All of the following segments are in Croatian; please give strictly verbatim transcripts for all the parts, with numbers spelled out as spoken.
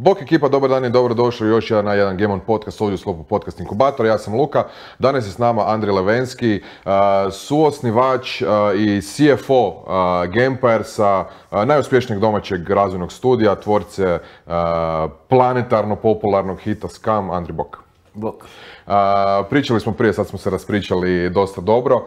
Bok ekipa, dobar dan i dobrodošli još jedan na jedan Game On podcast ovdje u sklopu Podcast Inkubatora. Ja sam Luka, danas je s nama Andrej Levenski, suosnivač i C F O Gamepiresa, najuspješnijeg domaćeg razvojnog studija, tvorce planetarno popularnog hita Scum. Andrej, bok. Bok. Uh, pričali smo prije, sad smo se raspričali dosta dobro. Uh,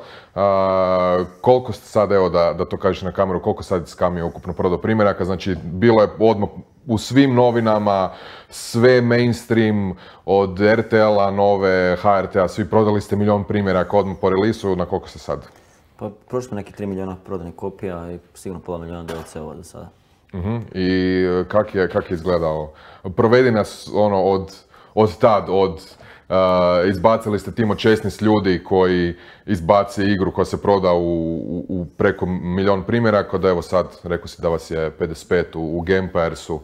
koliko ste sad, evo da, da to kažeš na kameru, koliko sad Scum je ukupno prodao primjeraka? Znači, bilo je odmah u svim novinama, sve mainstream, od R T L-a, Nove, H R T-a, svi prodali ste milion primjeraka odmah po release-u, na koliko ste sad? Pa prošli smo neki tri milijuna prodanih kopija i sigurno pola milijuna D L C-ova do sada. Uh-huh. I kak je, kak je izgledao? Provedi nas ono od, od tad, od Uh, izbacili ste tim od šesnaest ljudi koji izbaci igru koja se proda u, u, u preko milion primjeraka, da evo sad rekao si da vas je pedeset pet u, u Gamepiresu,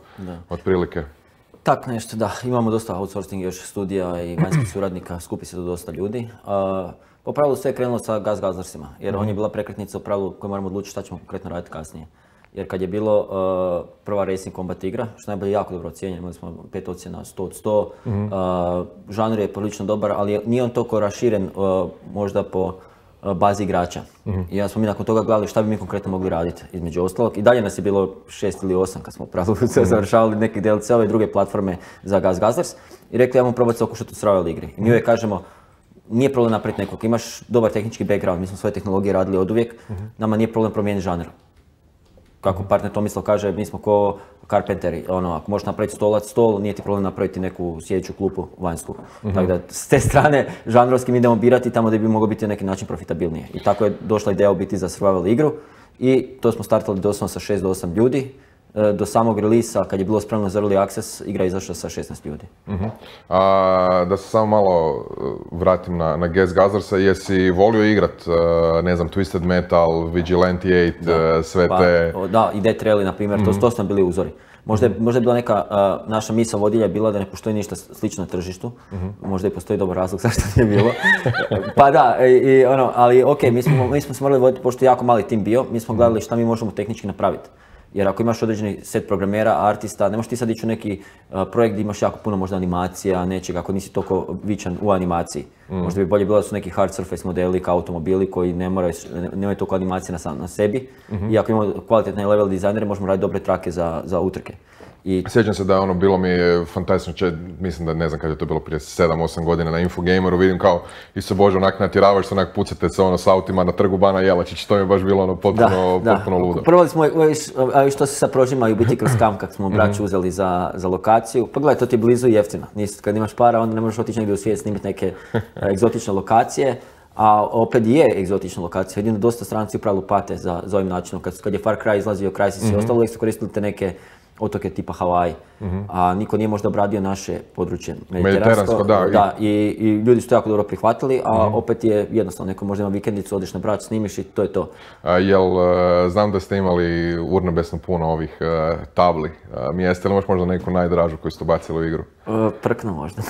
otprilike. Tak nešto, da. Imamo dosta outsourcing još studija i vanjskih suradnika, skupi se to dosta ljudi. Uh, po pravilu sve je krenulo sa Gas Guzzlersima, jer mm-hmm. on je bila prekretnica u pravilu koju moramo odlučiti šta ćemo konkretno raditi kasnije. Jer kad je bilo uh, prva Racing Combat igra, što najbolje jako dobro ocijenjeno, imali smo pet ocjena sto od sto, mm-hmm. uh, žanr je prilično dobar, ali nije on toliko raširen uh, možda po uh, bazi igrača. Mm-hmm. I ja smo mi nakon toga gledali šta bi mi konkretno mogli raditi, između ostalog. I dalje nas je bilo šest ili osam kad smo pravilu mm-hmm. završavali neke D L C-ove i druge platforme za Gas Guzzlers. I rekli, ajmo probati se okušati u survival igri. I mi uvijek kažemo, nije problem napraviti nekog, imaš dobar tehnički background, mi smo svoje tehnologije radili oduvijek, mm-hmm. nama nije problem promijeniti žanr. Kako partner Tomislav kaže, mi smo ko karpenteri, ono, ako možeš napraviti stolac, stol, nije ti problem napraviti neku sjedeću klupu vanjsku. Mm-hmm. Tako da, s te strane, žanrovski mi idemo birati tamo gdje bi moglo biti na neki način profitabilnije. I tako je došla ideja u biti za survival igru i to smo startali doslovno sa šest do osam ljudi. Do samog relisa, kad je bilo spremno za early access, igra je izašla sa šesnaest ljudi. Uh-huh. A, da se samo malo vratim na, na Gas Guzzlersa, jesi volio igrat, ne znam, Twisted Metal, Vigilante osam, sve pa, te... Da, i Death Rally, na primjer, uh-huh. to, to su nam bili uzori. Možda je, možda je bila neka, uh, naša misao vodilja je bila da ne postoji ništa slično na tržištu. Uh-huh. Možda i postoji dobar razlog zašto nije bilo. Pa da, i, i, ono, ali ok, mi smo, mi smo se morali voditi, pošto je jako mali tim bio, mi smo gledali šta mi možemo tehnički napraviti. Jer ako imaš određeni set programera, artista, ne možeš ti sad ići u neki uh, projekt gdje imaš jako puno možda animacija, nečega, ako nisi toliko vičan u animaciji. Mm. Možda bi bolje bilo da su neki hard surface modeli kao automobili koji ne moraju, ne, nemaju toliko animacije na, na sebi. Mm-hmm. I ako imamo kvalitetne level dizajnere, možemo raditi dobre trake za, za utrke. I... Sjećam se da je ono bilo mi fantastično, mislim da ne znam kad je to bilo prije sedam osam godina na Infogameru, vidim kao Iso Bože onak natjeravaš se, onak pucate se ono s autima na trgu Bana Jelačić, to mi je baš bilo ono potpuno, da, potpuno da. ludo. Provali smo, što se sad prožima i u biti kroz Scum kad smo braću uzeli za, za lokaciju, pa gledaj, to ti je blizu i jeftino, Nis, kad imaš para onda ne možeš otići negdje u svijet snimiti neke egzotične lokacije. A opet je egzotična lokacija, jedino dosta stranci u pravilu pate za, za ovim načinom, kad, kad je Far Cry izlazio, Crysis mm-hmm. i ostalo, uvijek su koristili te neke otoke tipa Hawaii, mm-hmm. a niko nije možda obradio naše područje mediteransko, da, da i, i ljudi su to jako dobro prihvatili, a mm-hmm. opet je jednostavno, neko možda ima vikendicu, odeš na brač, snimiš i to je to. A, jel, znam da ste imali urnebesno puno ovih uh, tabli, uh, mjesta, ili možeš možda neku najdražu koju ste bacili u igru? Uh, prkno možda.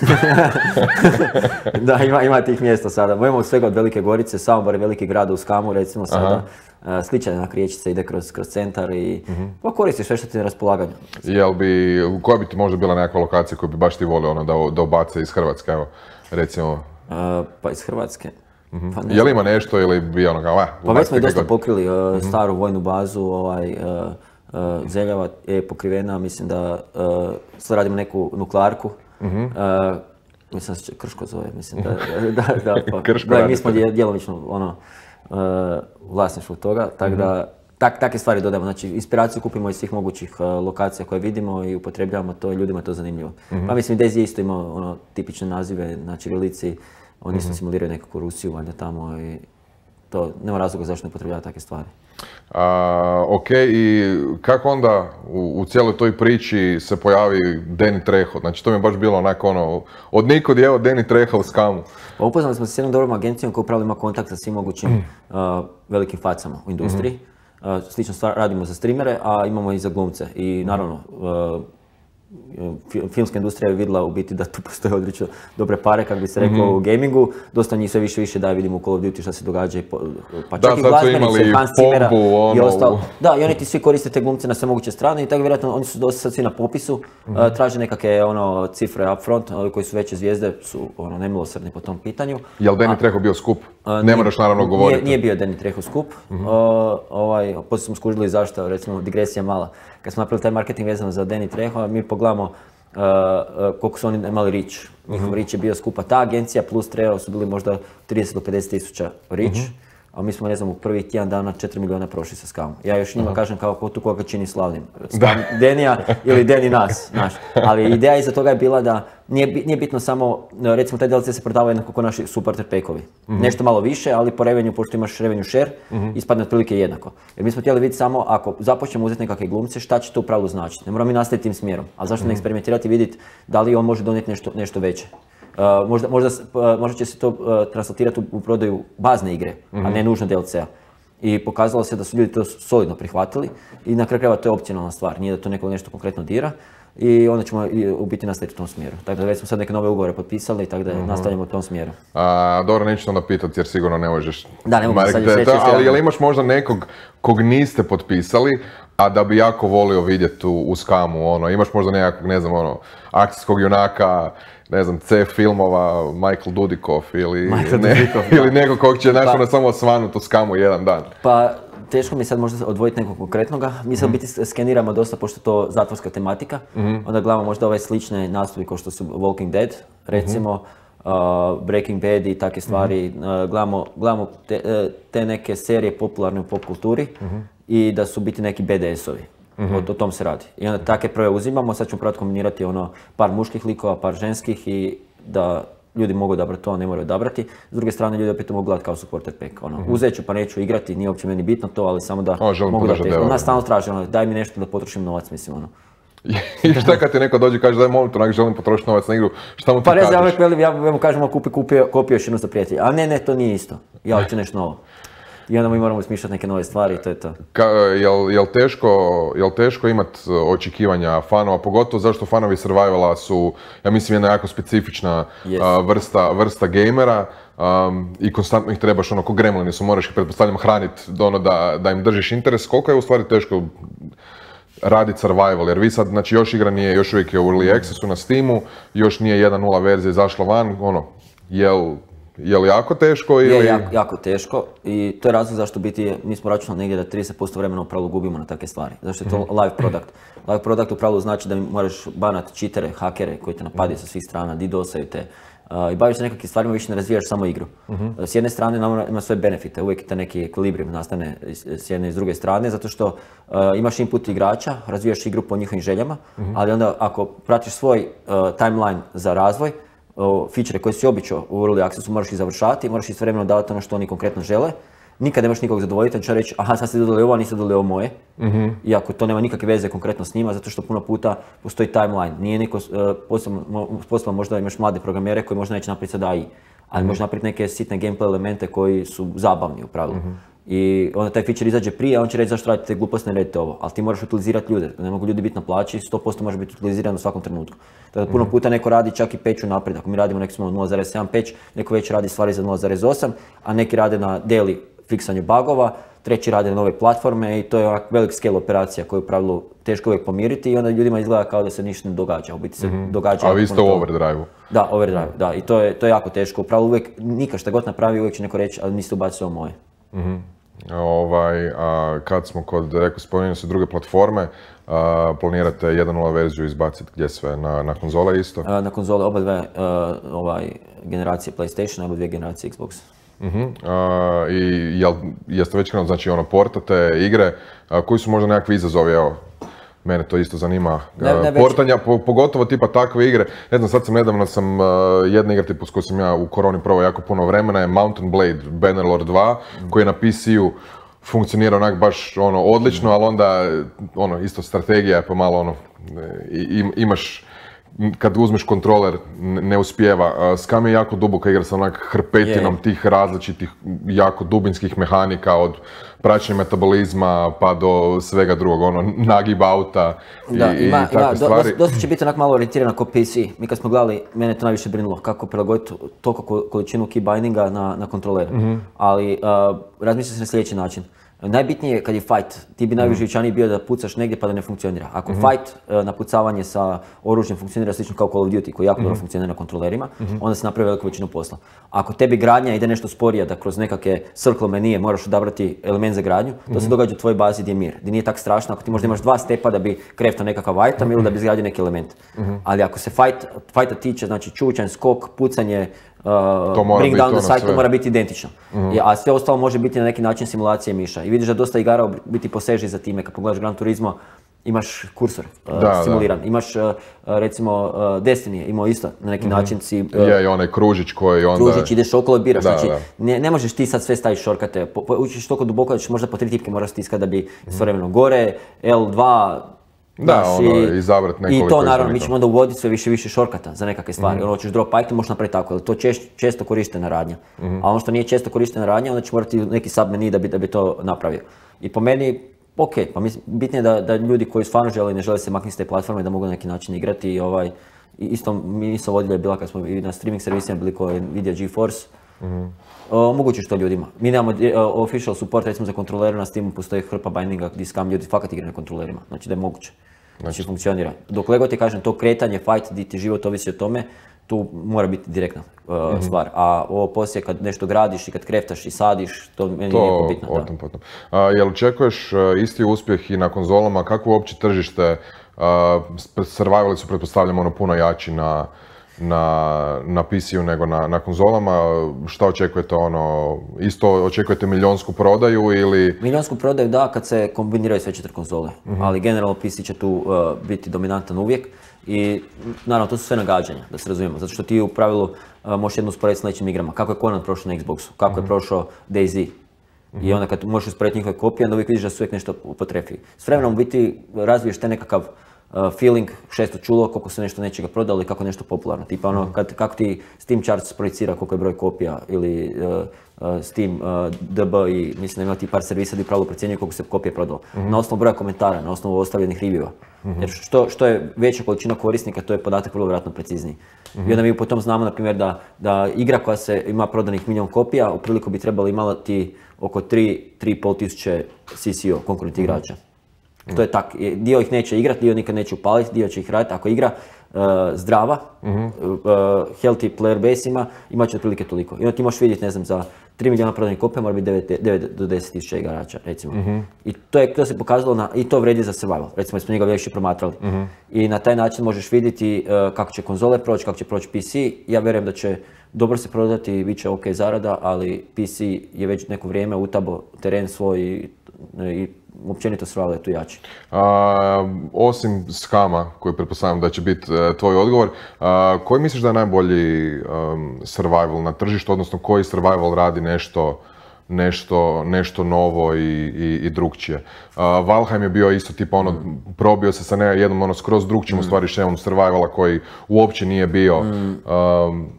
Da, ima, ima tih mjesta sada. Mojemo svega od Velike Gorice, Samobor je veliki grad u Scamu, recimo sada. Uh, slična jedna riječica ide kroz, kroz centar i uh-huh. pa koristiš sve što ti je na raspolaganju. Jel bi, koja bi ti možda bila nekakva lokacija koju bi baš ti volio ono, da, da obace iz Hrvatske, evo, recimo? Uh, pa iz Hrvatske? Uh-huh. Pa Jel ima nešto ili bi ono kao, pa već smo i dosta pokrili uh, uh-huh. staru vojnu bazu, ovaj, uh, uh, Zeljava je pokrivena, mislim da uh, sad radimo neku nuklearku. Uh-huh. Uh, mislim da se Krško zove, mislim da, da, da, pa, Krško da, mi smo djelomično ono, uh, vlasništvo toga, tako mm-hmm. da tak, takve stvari dodajemo. Znači, inspiraciju kupimo iz svih mogućih uh, lokacija koje vidimo i upotrebljavamo to i ljudima je to zanimljivo. Mm-hmm. Pa mislim, Dezi isto ima ono, tipične nazive na ćirilici, oni isto mm-hmm. simuliraju nekakvu Rusiju valjda tamo i to nema razloga zašto ne upotrebljava takve stvari. A, ok, i kako onda u, u cijeloj toj priči se pojavi Danny Trejo? Znači to mi je baš bilo onako ono, od nikud je evo Danny Trejo u Scamu. Pa upoznali smo se s jednom dobrom agencijom koja upravo ima kontakt sa svim mogućim mm. uh, velikim facama u industriji. Mm-hmm. Uh, slično stvar radimo za streamere, a imamo i za glumce. I naravno, uh, filmska industrija je vidjela u biti da tu postoje određeno dobre pare, kako bi se rekao, mm-hmm. u gamingu. Dosta njih sve više više da vidimo u Call of Duty šta se događa, pa čak da, i glazbenice, Hans Zimmera ono... i ostalo. Da, i oni ti svi koriste te glumce na sve moguće strane i tako vjerojatno oni su dosta sad svi na popisu, mm-hmm. uh, traže nekakve ono, cifre upfront, ovi koji su veće zvijezde su ono, nemilosrdni po tom pitanju. Je li Danny Trejo bio skup? Uh, ne moraš naravno govoriti. Nije, nije bio Danny Trejo skup. Mm-hmm. Uh, ovaj, poslije smo skužili zašto, recimo digresija mala. Kad smo napravili taj marketing vezano za Danny Trejo, mi poglamo uh, uh, koliko su oni imali reach. Njihov mm-hmm. reach je bio skupa ta agencija plus Trejo su bili možda trideset do pedeset tisuća reach. Mm-hmm. A mi smo, ne znam, u prvih tjedan dana četiri milijuna prošli sa Skamom. Ja još njima uh-huh. kažem kao ko tu koga čini slavnim. Skam Denija ili Deni nas, znaš. Ali ideja iza toga je bila da nije, nije bitno samo, recimo taj D L C se prodava jednako kao naši supporter packovi. Uh-huh. Nešto malo više, ali po revenju, pošto imaš revenue share, uh-huh. ispadne otprilike jednako. Jer mi smo htjeli vidjeti samo ako započnemo uzeti nekakve glumce, šta će to u pravilu značiti. Ne moramo mi nastaviti tim smjerom, ali zašto uh-huh. ne eksperimentirati i vidjeti da li on može donijeti nešto, nešto veće. Uh, možda, možda, uh, možda će se to uh, translatirati u, u prodaju bazne igre, mm-hmm. a ne nužno D L C-a. I pokazalo se da su ljudi to solidno prihvatili i na kraju krajeva to je opcionalna stvar, nije da to neko nešto konkretno dira i onda ćemo u biti nastaviti u tom smjeru. Tako da već smo sad neke nove ugovore potpisali, tako da mm-hmm. nastavljamo u tom smjeru. A, dobro, neću onda pitati jer sigurno ne možeš... Da, ne mogu sad još reći. Ali jel imaš možda nekog kog niste potpisali, a da bi jako volio vidjeti u, u Skamu, ono, imaš možda nekakvog, ne znam, ono, akcijskog junaka, ne znam, C filmova, Michael Dudikoff ili, Michael ne, Dudikoff, ili nekog kog će pa, ono samo osvanuti u Skamu jedan dan. Pa, teško mi sad možda odvojiti nekog konkretnoga. Mi sad mm-hmm. biti skeniramo dosta, pošto je to zatvorska tematika. Mm-hmm. Onda gledamo možda ove slične nastupi kao što su Walking Dead, recimo, mm-hmm. uh, Breaking Bad i takve stvari. Mm-hmm. Uh, gledamo gledamo te, te neke serije popularne u pop kulturi mm-hmm. i da su biti neki B D S-ovi. Mm-hmm. O, o tom se radi. I onda takve proje uzimamo, sad ćemo probati kombinirati ono par muških likova, par ženskih i da ljudi mogu odabrati to, a ne moraju odabrati. S druge strane, ljudi opet mogu gledati kao supporter pack. Ono, mm-hmm. uzet ću pa neću igrati, nije uopće meni bitno to, ali samo da o, mogu da te... Nas stalno traži, ono, daj mi nešto da potrošim novac, mislim, ono. I šta kad ti neko dođe i kaže daj molim te, želim potrošiti novac na igru, šta mu ti pa kažeš? Pa reći, ja, ja, ja mu kažem, kupi, kupi, kupi još jednu za prijatelja. A ne, ne, to nije isto. Ja hoću nešto novo. I onda mi moramo smišljati neke nove stvari i to je to. Ka, jel, jel, teško, jel teško imati očekivanja fanova, pogotovo zašto fanovi Survivala su, ja mislim, jedna jako specifična yes. uh, vrsta, vrsta gamera um, i konstantno ih trebaš, ono, ko gremlini su, moraš ih, pretpostavljam, hraniti ono, da, da im držiš interes. Koliko je u stvari teško raditi survival, jer vi sad, znači, još igra nije, još uvijek je u early accessu na Steamu, još nije jedan nula verzija izašla van, ono, jel... Je li jako teško ili... Je jako, jako teško i to je razlog zašto biti, mi smo računali negdje da trideset posto vremena u pravilu gubimo na takve stvari. Zašto je to live product. Live product u pravilu znači da moraš banati cheatere, hakere koji te napadaju sa svih strana, didosaju te. Uh, I baviš se nekakvim stvarima, više ne razvijaš samo igru. Uh-huh. S jedne strane ima sve benefite, uvijek te neki ekvilibrim nastane s jedne i s druge strane, zato što uh, imaš input igrača, razvijaš igru po njihovim željama, uh-huh. ali onda ako pratiš svoj uh, timeline za razvoj, feature koje si običao u early accessu moraš ih završavati, moraš istovremeno davati ono što oni konkretno žele. Nikad nemaš nikog zadovoljiti, on će reći aha sad ste dodali ovo, a niste dodali ovo moje. Mm-hmm. Iako to nema nikakve veze konkretno s njima, zato što puno puta postoji timeline. Nije niko, uh, posebno, posebno možda imaš mlade programere koji možda neće napraviti sad A I, ali mm-hmm. može napraviti neke sitne gameplay elemente koji su zabavni u pravilu. Mm-hmm. I onda taj feature izađe prije, a on će reći zašto radite gluposti, ne radite ovo. Ali ti moraš utilizirati ljude, ne mogu ljudi biti na plaći, sto posto može biti utiliziran u svakom trenutku. Tako da puno puta neko radi čak i patch unaprijed. Ako mi radimo neki smo nula zarez sedam patch, neko već radi stvari za nula zarez osam, a neki rade na daily fiksanju bugova, treći rade na nove platforme i to je onak velik scale operacija koju u pravilu teško uvijek pomiriti i onda ljudima izgleda kao da se ništa ne događa, u biti se mm-hmm. događa. A vi ste u overdrive-u? Da, overdrive, da, i to je, to je jako teško. U pravilu uvijek, nikad šta god napravi, uvijek će neko reći, ali niste ubacili ovo moje. Mm-hmm. Ovaj, a kad smo kod, rekao, spominjali su druge platforme, a, planirate jedan nula verziju izbaciti gdje sve, na, na konzole isto? A, na konzole oba dve uh, ovaj, generacije PlayStation, oba dvije generacije Xbox. Uh-huh. A, i jel, jeste već krenuli, znači ono, portate igre, a, koji su možda nekakvi izazovi, evo, mene to isto zanima, ne, ne portanja, po, pogotovo tipa takve igre, ne znam, sad sam nedavno sam, uh, jedna igra tipu s kojoj sam ja u koroni probao jako puno vremena je Mountain Blade Bannerlord dva, mm. koji je na P C-u funkcionira onak baš ono odlično, mm. ali onda ono isto strategija je pa malo ono, i, imaš kad uzmeš kontroler ne uspijeva. Scum je jako duboka igra sa onak hrpetinom Je. tih različitih jako dubinskih mehanika od praćenja metabolizma pa do svega drugog, ono, nagib auta i, Da, ima, i ima, takve do, stvari. dosta, dosta će biti onak malo orijentirano kao P C. Mi kad smo gledali, mene to najviše brinulo kako prilagoditi toliko količinu key bindinga na, na kontrolere. Mm-hmm. Ali uh, razmišlja se na sljedeći način. Najbitnije je kad je fight, ti bi najuživčaniji bio da pucaš negdje pa da ne funkcionira. Ako mm-hmm. fight, uh, napucavanje sa oružjem funkcionira slično kao Call of Duty koji jako mm-hmm. dobro funkcionira na kontrolerima, mm-hmm. onda se napravi veliku većinu posla. Ako tebi gradnja ide nešto sporije, da kroz nekakve circle menije moraš odabrati element za gradnju, mm-hmm. to se događa u tvojoj bazi gdje je mir, gdje nije tak strašno ako ti možda imaš dva stepa da bi kreftao nekakav item mm-hmm. ili da bi izgradio neki element. Mm-hmm. Ali ako se fight, fighta tiče, znači čučanj, skok, pucanje, Uh, bring down the site, to mora biti identično. Mm-hmm. A sve ostalo može biti na neki način simulacije miša. I vidiš da dosta igara u biti poseže za time. Kad pogledaš Gran Turismo, imaš kursor uh, da, simuliran. Da. Imaš uh, recimo uh, Destiny, imao isto na neki mm-hmm. način si... Uh, je, i onaj kružić koji onda... Kružić, ideš okolo i biraš. Da, znači, da. Ne, ne možeš ti sad sve staviti šorkate. Po, po, učiš toliko duboko da ćeš možda po tri tipke moraš stiskati da bi mm-hmm. istovremeno gore, L dva... Da, ono, izabrat nekoliko. I to naravno, mi ćemo onda uvoditi sve više više šorkata za nekakve stvari. Mm-hmm. Ono, hoćeš drop item, možeš napraviti tako, jer to čest, često korištena radnja. Mm-hmm. A ono što nije često korištena radnja, onda ćeš morati neki sub menu da bi, da bi to napravio. I po meni, ok, pa mislim, bitno je da, da ljudi koji stvarno žele i ne žele se maknuti s te platforme da mogu na neki način igrati i ovaj, i isto misao vodilja je bila kad smo i na streaming servisima bili koji Nvidia GeForce. Mm-hmm. Omogućiš to ljudima. Mi nemamo uh, official support, recimo za kontrolere, na Steamu postoji hrpa bindinga gdje Scum ljudi fakat igraju na kontrolerima, znači da je moguće. Znači funkcionira. Dok Lego ti kažem, to kretanje, fight, di ti život ovisi o tome, tu mora biti direktna uh, mm-hmm. stvar. A ovo poslije kad nešto gradiš i kad kreftaš i sadiš, to meni to nije bitno. Otom, da. Potom. Uh, jel očekuješ uh, isti uspjeh i na konzolama? Kako uopće tržište? Uh, survivali su, pretpostavljamo, ono puno jači na, na, na P C-u nego na, na konzolama. Šta očekujete, ono, isto očekujete milionsku prodaju ili... Milionsku prodaju da, kad se kombiniraju sve četiri konzole, mm-hmm. ali generalno P C će tu uh, biti dominantan uvijek i naravno to su sve nagađanja, da se razumijemo, zato što ti u pravilu uh, možeš jednu usporediti s nekim igrama. Kako je Conan prošao na Xboxu, kako mm-hmm. je prošao DayZ. Mm-hmm. I onda kad možeš usporediti njihove kopije, onda uvijek vidiš da su uvijek nešto upotrefi. S vremenom u biti razviješ te nekakav Uh, feeling, šesto čulo, koliko se nešto nečega prodalo i kako nešto popularno. Tipa ono, kad, kako ti Steam Charts projicira koliko je broj kopija ili uh, uh, Steam uh, D B i mislim da ima ti par servisa gdje pravilno procjenjuju koliko se kopije prodalo. Mm-hmm. Na osnovu broja komentara, na osnovu ostavljenih reviewa. Mm-hmm. Jer što, što je veća količina korisnika, to je podatak vrlo vjerojatno precizniji. Mm-hmm. I onda mi potom znamo, na primjer, da, da igra koja se ima prodanih milijun kopija, u priliku bi trebali imati oko tri do tri i pol tisuće C C O, konkurentnih mm-hmm. igrača. To je tak, dio ih neće igrati, dio nikad neće upaliti, dio će ih raditi. Ako igra uh, zdrava, mm-hmm. uh, healthy player base ima, imat će otprilike toliko. I onda ti možeš vidjeti, ne znam, za tri milijuna prodanih kopija mora biti devet do deset tisuća igrača, recimo. Mm-hmm. I to, je, to se pokazalo, na, i to vredi za survival, recimo smo njega više promatrali. Mm-hmm. I na taj način možeš vidjeti uh, kako će konzole proći, kako će proći P C. Ja vjerujem da će dobro se prodati, bit će ok zarada, ali P C je već neko vrijeme utabo teren svoj i, i općenito survival je tu jači. A, osim Scuma, koji pretpostavljam da će biti uh, tvoj odgovor, uh, koji misliš da je najbolji um, survival na tržištu, odnosno koji survival radi nešto, nešto, nešto novo i, i, i drugčije? Uh, Valheim je bio isto tipa ono, mm. probio se sa ne, jednom ono skroz drugčijim mm. u stvari šemom survivala koji uopće nije bio, mm. um,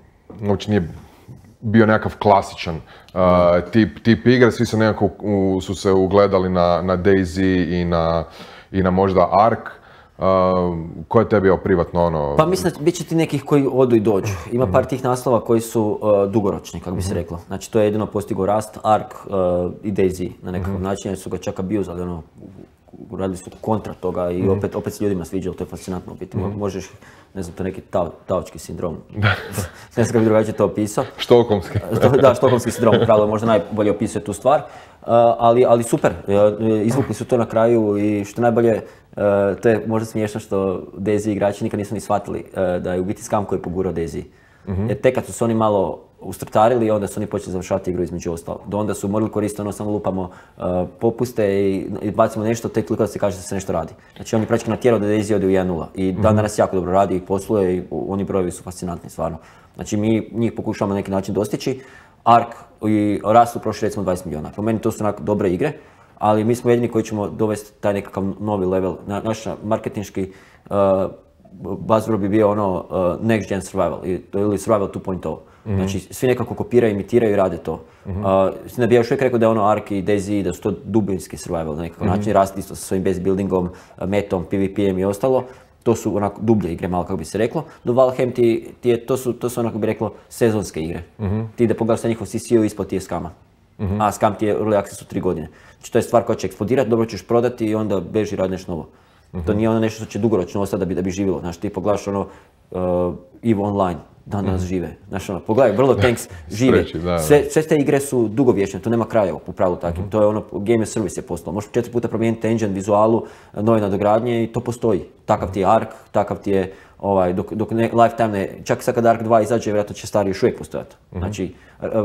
uopće nije bio nekakav klasičan uh, tip, tip igre, svi su nekako u, su se ugledali na, na DayZ i na, i na možda Ark. Uh, ko je tebi bio privatno ono... Pa mislim da bit će ti nekih koji odu i dođu. Ima par tih naslova koji su uh, dugoročni, kako bi se reklo. Znači to je jedino postigao Rust, Ark uh, i DayZ na nekakav mm-hmm. način, jer su ga čak abusali, ono, radili su kontra toga i opet, opet se ljudima sviđalo, to je fascinantno biti. Mm-hmm. Možeš, ne znam, to je neki tao, taočki sindrom. Ne znam kako bi drugačije to opisao. Štokholmski. Da, štokholmski sindrom, pravilo možda najbolje opisuje tu stvar. Uh, ali, ali super, izvukli su to na kraju i što najbolje, uh, to je možda smiješno što DayZ igrači nikad nisu ni shvatili uh, da je u biti Scum koji je pogurao DayZ. Mm-hmm. Jer tek kad su se oni malo ustrtarili, onda su oni počeli završavati igru između ostalog. Do onda su morali koristiti ono samo lupamo uh, popuste i, i bacimo nešto, tek toliko da se kaže da se nešto radi. Znači on je praktički natjerao da DayZ ode u jedan nula i dan danas jako dobro radi i posluje i oni brojevi su fascinantni stvarno. Znači mi njih pokušavamo na neki način dostići. Ark i Rust su prošli recimo dvadeset milijuna. Po meni to su onako dobre igre, ali mi smo jedini koji ćemo dovesti taj nekakav novi level. Na, naš marketinški uh, buzzword bi bio ono uh, next gen survival ili survival two point oh. Mm-hmm. Znači, svi nekako kopiraju, imitiraju i rade to. Mm-hmm. Uh, ne bi ja još uvijek rekao da je ono Ark i DayZ, da su to dubinski survival na nekakav mm-hmm. način, rasti isto sa svojim base buildingom, metom, PvP-em i ostalo. To su onako dublje igre, malo kako bi se reklo. Do Valheim ti, ti je, to su, to su onako bi reklo sezonske igre. Mm-hmm. Ti da pogledaš sa njihov C C U ispod ti je skama. Mm-hmm. A skam ti je early access u tri godine. Znači to je stvar koja će eksplodirati, dobro ćeš prodati i onda beži radi nešto novo. Mm-hmm. To nije ono nešto što će dugoročno ostati da bi, da bi živjelo. Znači ti pogledaš ono uh, EVE Online, dan danas mm-hmm. žive. Znači ono, pogledaj, World of Tanks žive. Streći, da, da. Sve, sve te igre su dugovječne, to nema kraja u pravilu takvim. Mm-hmm. To je ono, game as service je postalo. Možeš četiri puta promijeniti engine, vizualu, nove nadogradnje i to postoji. Takav ti je Ark, takav ti je ovaj, dok, dok ne, lifetime ne, čak sad kad Ark dva izađe, vjerojatno će stari još uvijek postojati. Mm-hmm. Znači,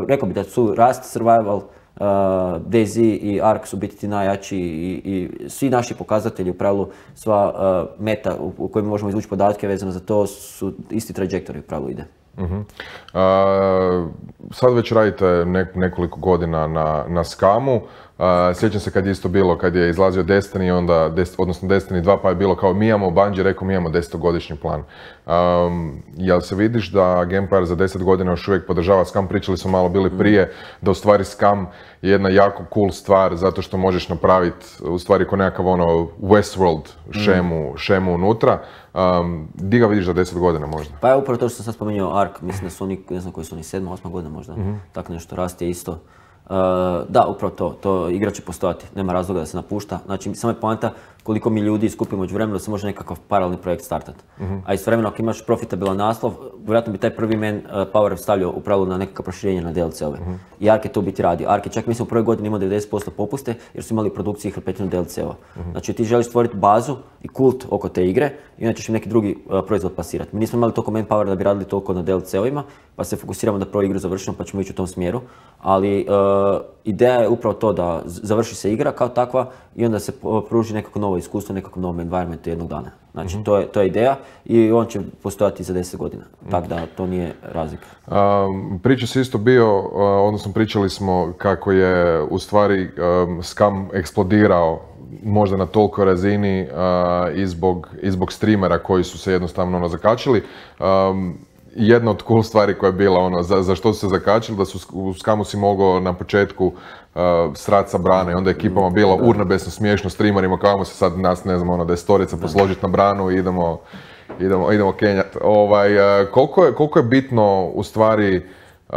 rekao bi da su Rust, Survival, Uh, DayZ i Ark su biti ti najjači i, i svi naši pokazatelji, u pravilu sva uh, meta u, u kojima možemo izvući podatke vezano za to su isti trajektori u pravilu ide. Uh-huh. Uh, sad već radite nek, nekoliko godina na, na skamu. Uh, sjećam se kad je isto bilo, kad je izlazio Destiny, onda, des, odnosno Destiny dva, pa je bilo kao mi imamo, Bungie rekao mi imamo desetogodišnji plan. Um, jel se vidiš da Gamepire za deset godina još uvijek podržava skam? Pričali smo malo bili prije da u stvari skam je jedna jako cool stvar zato što možeš napraviti u stvari ko nekakav ono Westworld šemu, mm. šemu unutra. Um, di ga vidiš za deset godina možda? Pa je upravo to što sam sad spomenuo Ark, mislim da su oni, ne znam koji su oni, sedma, osma godina možda, mm-hmm. tako nešto, Rust je isto. Uh, da, upravo to, to igra će postojati, nema razloga da se napušta. Znači, samo je poanta koliko mi ljudi skupimo među vremenu da se može nekakav paralelni projekt startati. Mm-hmm. A istovremeno ako imaš profitabilan naslov, vjerojatno bi taj prvi man uh, power stavljao u pravilu na nekakav proširenje na D L C-ove. Mm-hmm. I Ark je to biti radio. Ark je čak mislim u prvoj godini imao devedeset posto popuste jer su imali produkciji hrpetinu D L C-ova. Mm-hmm. Znači ti želiš stvoriti bazu i kult oko te igre i onda ćeš im neki drugi uh, proizvod plasirati. Mi nismo imali toliko manpower da bi radili toliko na D L C-ovima, pa se fokusiramo da prvo igru završimo pa ćemo ići u tom smjeru. Ali uh, ideja je upravo to da završi se igra kao takva i onda se pruži nekako novo iskustvo, nekakvom novom environmentu jednog dana. Znači, mm-hmm. to, je, to je ideja i on će postojati za deset godina, mm-hmm. tako da to nije razlika. Um, priča se isto bio, uh, odnosno pričali smo kako je u stvari um, skam eksplodirao možda na toliko razini uh, i, zbog, i zbog streamera koji su se jednostavno ono, zakačili. Um, Jedna od cool stvari koja je bila ono, za, za što su se zakačili, da su u skamu si mogao na početku uh, srat sa brane i onda je ekipama bilo urnebesno smiješno streamerima, kao se sad nas, ne znam, ono, destorica posložiti na branu i idemo, idemo, idemo kenjat. Ovaj, uh, koliko, je, koliko je bitno u stvari uh,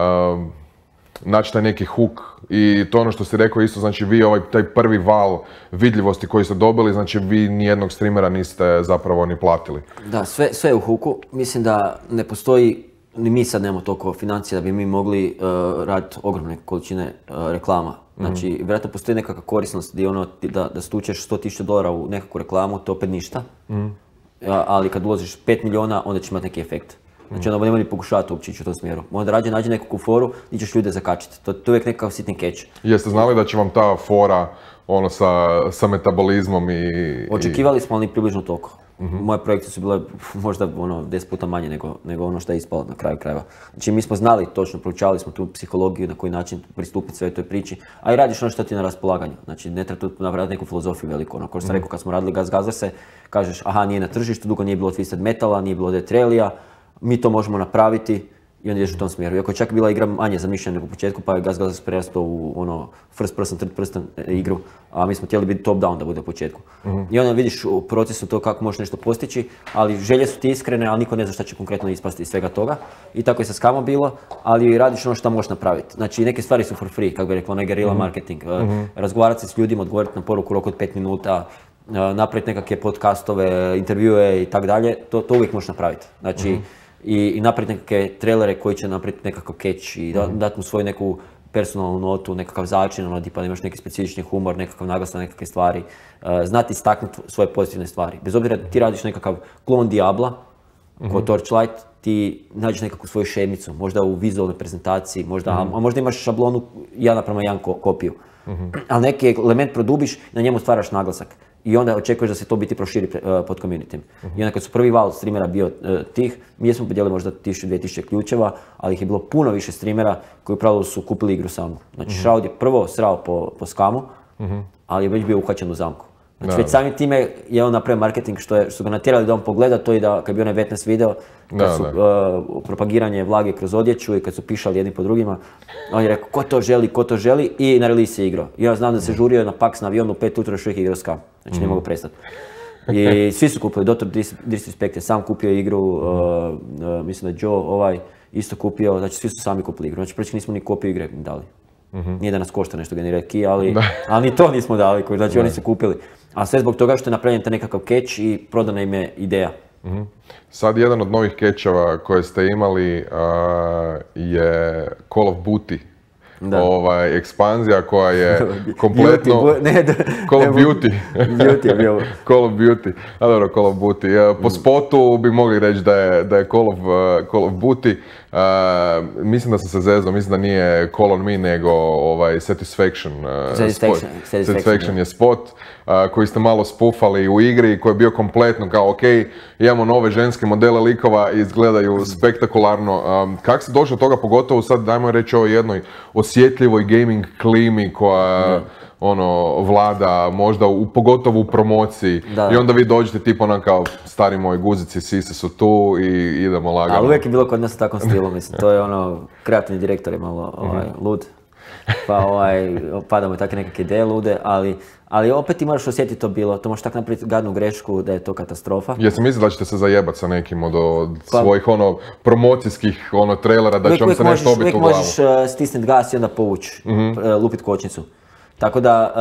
naći taj neki hook i to ono što si rekao isto, znači vi ovaj taj prvi val vidljivosti koji ste dobili, znači vi nijednog streamera niste zapravo ni platili. Da, sve, sve je u hooku. Mislim da ne postoji, ni mi sad nemamo toliko financija da bi mi mogli uh, raditi ogromne količine uh, reklama. Znači, mm-hmm. vjerojatno postoji nekakva korisnost gdje ono, da, da stučeš sto tisuća dolara u nekakvu reklamu, to opet ništa. Mm-hmm. Ja, ali kad uložiš pet milijuna, onda ćeš imati neki efekt. Znači onda nema ni pokušavati uopće ići u tom smjeru. Onda rađe nađe nekakvu foru gdje ćeš ljude zakačiti. To, to je uvijek nekakav sitni catch. Jeste znali da će vam ta fora ono sa, sa metabolizmom i... Očekivali smo, ali ni približno toliko. Mm-hmm. Moje projekcije su bile možda ono, deset puta manje nego, nego ono što je ispalo na kraju krajeva. Znači mi smo znali točno, proučavali smo tu psihologiju, na koji način pristupiti sve toj priči, a i radiš ono što ti je na raspolaganju. Znači ne treba tu napraviti neku filozofiju veliku. Ono, kao što sam rekao kad smo radili Gas Gazerse, kažeš aha nije na tržištu, dugo nije bilo Twisted Metala, nije bilo Death Rallyja, mi to možemo napraviti i onda ideš u tom smjeru. Iako je čak bila igra manje zamišljena nego u početku, pa je Gas Gazers prerastao u ono first person, third person igru, a mi smo htjeli biti top down da bude u početku. Mm-hmm. I onda vidiš u procesu to kako možeš nešto postići, ali želje su ti iskrene, ali niko ne zna šta će konkretno ispasti iz svega toga. I tako je sa skamom bilo, ali radiš ono što možeš napraviti. Znači neke stvari su for free, kako bi rekla, onaj guerrilla mm-hmm. marketing. Mm-hmm. Razgovarati se s ljudima, odgovoriti na poruku u roku od pet minuta, napraviti nekakve podcastove, intervjue i tako dalje, to, to uvijek možeš napraviti. Znači, mm-hmm. i, i napraviti nekakve trailere koji će napraviti nekakav catch i da, mm-hmm. dati mu svoju neku personalnu notu, nekakav začin, ono tipa da imaš neki specifični humor, nekakav naglas na nekakve stvari, uh, znati istaknuti svoje pozitivne stvari. Bez obzira da ti radiš nekakav klon Diabla, mm-hmm. kao Torchlight, ti nađeš nekakvu svoju šemicu, možda u vizualnoj prezentaciji, možda, mm-hmm. a možda imaš šablonu jedan naprema jedan ko, kopiju. Mm-hmm. Ali neki element produbiš, na njemu stvaraš naglasak. I onda očekuješ da se to biti proširi uh, pod communityjem. Uh-huh. I onda kad su prvi val streamera bio uh, tih, mi smo podijelili možda tisuću, dvije tisuće ključeva, ali ih je bilo puno više streamera koji u pravilu su kupili igru samu. Znači uh-huh. Shroud je prvo srao po, po skamu, uh-huh. ali je već bio uhvaćen u zamku. Znači već samim time je on napravio marketing što, je, što su ga natjerali da on pogleda to i da kad bi onaj wetness video, kad da, su da. Uh, propagiranje vlage kroz odjeću i kad su pišali jedni po drugima, on je rekao ko to želi, ko to želi i na release je igrao. I ja znam da se žurio na Pax na avionu u pet utra još uvijek igrao Scum, znači mm. ne mogu prestati. I svi su kupili, doktor Disrespect je sam kupio igru, uh, uh, mislim da Joe ovaj isto kupio, znači svi su sami kupili igru, znači prečki nismo ni kopiju igre dali. Mm-hmm. Nije da nas košta nešto generirati key, ali, ali ni to nismo dali, znači da. Oni su kupili. A sve zbog toga što je napravljen taj nekakav catch i prodana im je ideja. Mm-hmm. Sad jedan od novih catcheva koje ste imali uh, je Call of Duty. Da. Ovaj, ekspanzija koja je kompletno... Beauty, ne, da, Call of Duty. Beauty je bio. Call of Duty. A dobro, Call of Duty. Po spotu bi mogli reći da je, da je Call of, uh, Call of Duty. Uh, mislim da sam se zezao, mislim da nije Call on Me, nego ovaj, Satisfaction. Uh, Satisfaction, spot. Satisfaction, Satisfaction je spot uh, koji ste malo spufali u igri, koji je bio kompletno kao ok, imamo nove ženske modele likova i izgledaju spektakularno. Um, kako se došlo do toga, pogotovo sad, dajmo reći o jednoj osjetljivoj gaming klimi koja da. ono, vlada možda u, pogotovo u promociji da. I onda vi dođete tipa onak kao stari moji guzici, sise su tu i idemo lagano. Ali uvijek je bilo kod nas u takvom stilu, mislim, to je ono, kreativni direktor je malo ovaj, lud, pa ovaj, padamo i takve nekakve ideje lude, ali, ali opet ti moraš osjetiti to bilo, to možeš tako napraviti gadnu grešku da je to katastrofa. Jesi mislio da ćete se zajebati sa nekim od, od pa, svojih ono, promocijskih ono, trailera, da će vam se nešto obiti u glavu? Uvijek možeš uh, stisniti gas i onda povući, mm-hmm. uh, lupit kočnicu. Tako da,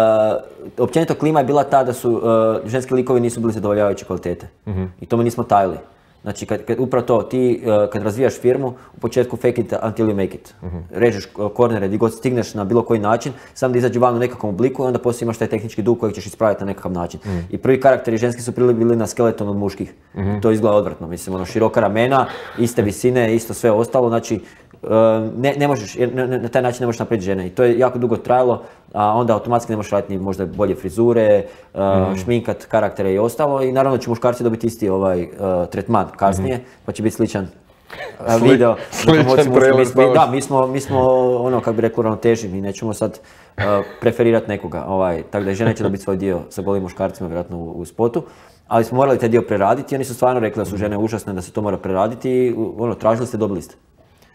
uh, općenito klima je bila ta da su uh, ženski likovi nisu bili zadovoljavajuće kvalitete. Mm-hmm. I to mi nismo tajili. Znači, kad, kad, upravo to, ti uh, kad razvijaš firmu, u početku fake it until you make it. Mm-hmm. Režeš kornere, gdje god stigneš na bilo koji način, samo da izađe van u nekakvom obliku i onda poslije imaš taj tehnički dug kojeg ćeš ispraviti na nekakav način. Mm-hmm. I prvi karakteri ženski su prili bili na skeleton od muških. Mm-hmm. To izgleda odvratno, mislim, ono, široka ramena, iste visine, isto sve ostalo, znači, Uh, ne, ne možeš, ne, ne, na taj način ne možeš napraviti žene i to je jako dugo trajalo, a onda automatski ne možeš raditi ni možda bolje frizure, uh, mm. šminkat karaktere i ostalo i naravno će muškarci dobiti isti ovaj uh, tretman kasnije, mm. pa će biti sličan uh, Sli, video. Sličan trailer. Mi, da, mi smo, mi smo ono, kako bi rekli, ravnoteži, mi nećemo sad uh, preferirati nekoga, ovaj, tako da žene će dobiti svoj dio sa golim muškarcima vjerojatno u, u spotu. Ali smo morali taj dio preraditi i oni su stvarno rekli da su žene užasne, da se to mora preraditi i ono, tražili ste, dobili ste.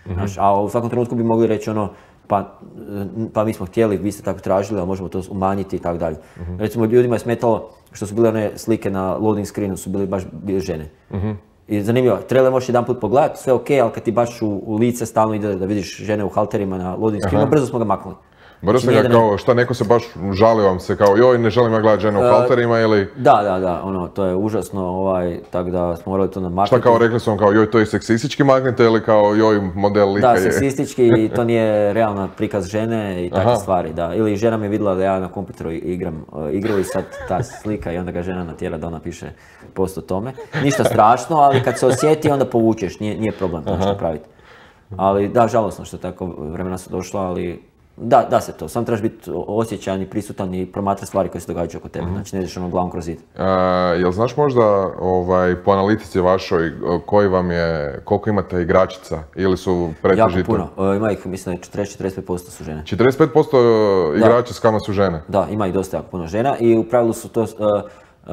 Mm-hmm. A u svakom trenutku bi mogli reći ono, pa, pa mi smo htjeli, vi ste tako tražili, ali možemo to umanjiti i tako dalje. Mm-hmm. Recimo ljudima je smetalo što su bile one slike na loading screenu, su bili baš bile žene. Mm-hmm. I zanimljivo, trailer možeš jedan put pogledati, sve ok, ali kad ti baš u, u lice stalno ide da vidiš žene u halterima na loading screenu, brzo smo ga maknuli. Brzo ste ga kao, šta neko se baš žali vam se kao, joj ne želim ja gledati žene u halterima ili... Da, da, da, ono, to je užasno, ovaj, tako da smo morali to namaknuti. Šta kao rekli su vam kao, joj to je seksistički magnete ili kao, joj model lika je... Da, seksistički i to nije realna prikaz žene i takve stvari, da. Ili žena mi je vidjela da ja na kompjuteru igram uh, igru i sad ta slika i onda ga žena natjera da ona piše post o tome. Ništa strašno, ali kad se osjeti onda povučeš, nije, nije problem to što praviti. Ali da, žalosno što tako vremena su došla, ali... Da, da se to, sam trebaš biti osjećajan i prisutan i promatrati stvari koje se događaju oko tebe, mm-hmm. znači ne ideš ono glavom kroz zid. Uh, jel znaš možda ovaj, po analitici vašoj koji vam je, koliko imate igračica ili su pretežito? Jako puno, uh, ima ih mislim da četrdeset do četrdeset pet posto su žene. četrdeset pet posto igrača s kama su žene? Da, ima ih dosta jako puno žena i u pravilu su to, uh, uh,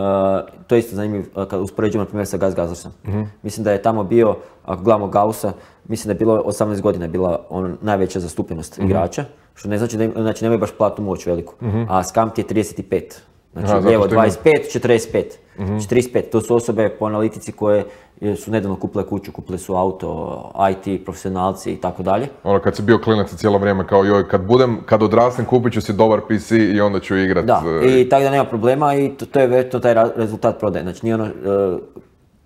to je isto zanimljivo uh, kad uspoređujemo na primjer sa Gus Gazersom. Mm-hmm. Mislim da je tamo bio, ako gledamo Gaussa, mislim da je bilo osamnaest godina je bila on, najveća zastupljenost mm-hmm. igrača, što ne znači da im, znači nemaju baš platnu moć veliku, mm-hmm. a Scum ti je trideset pet. Znači Aha, lijevo dvadeset pet, četrdeset pet. Mm-hmm. četrdeset pet, to su osobe po analitici koje su nedavno kupile kuću, kupile su auto, I T, profesionalci i tako dalje. Ono kad si bio klinac cijelo vrijeme kao joj, kad budem, kad odrastem kupit ću si dobar P C i onda ću igrat. Da, i tako da nema problema i to, to je vjerojatno taj rezultat prodaje. Znači nije ono, uh,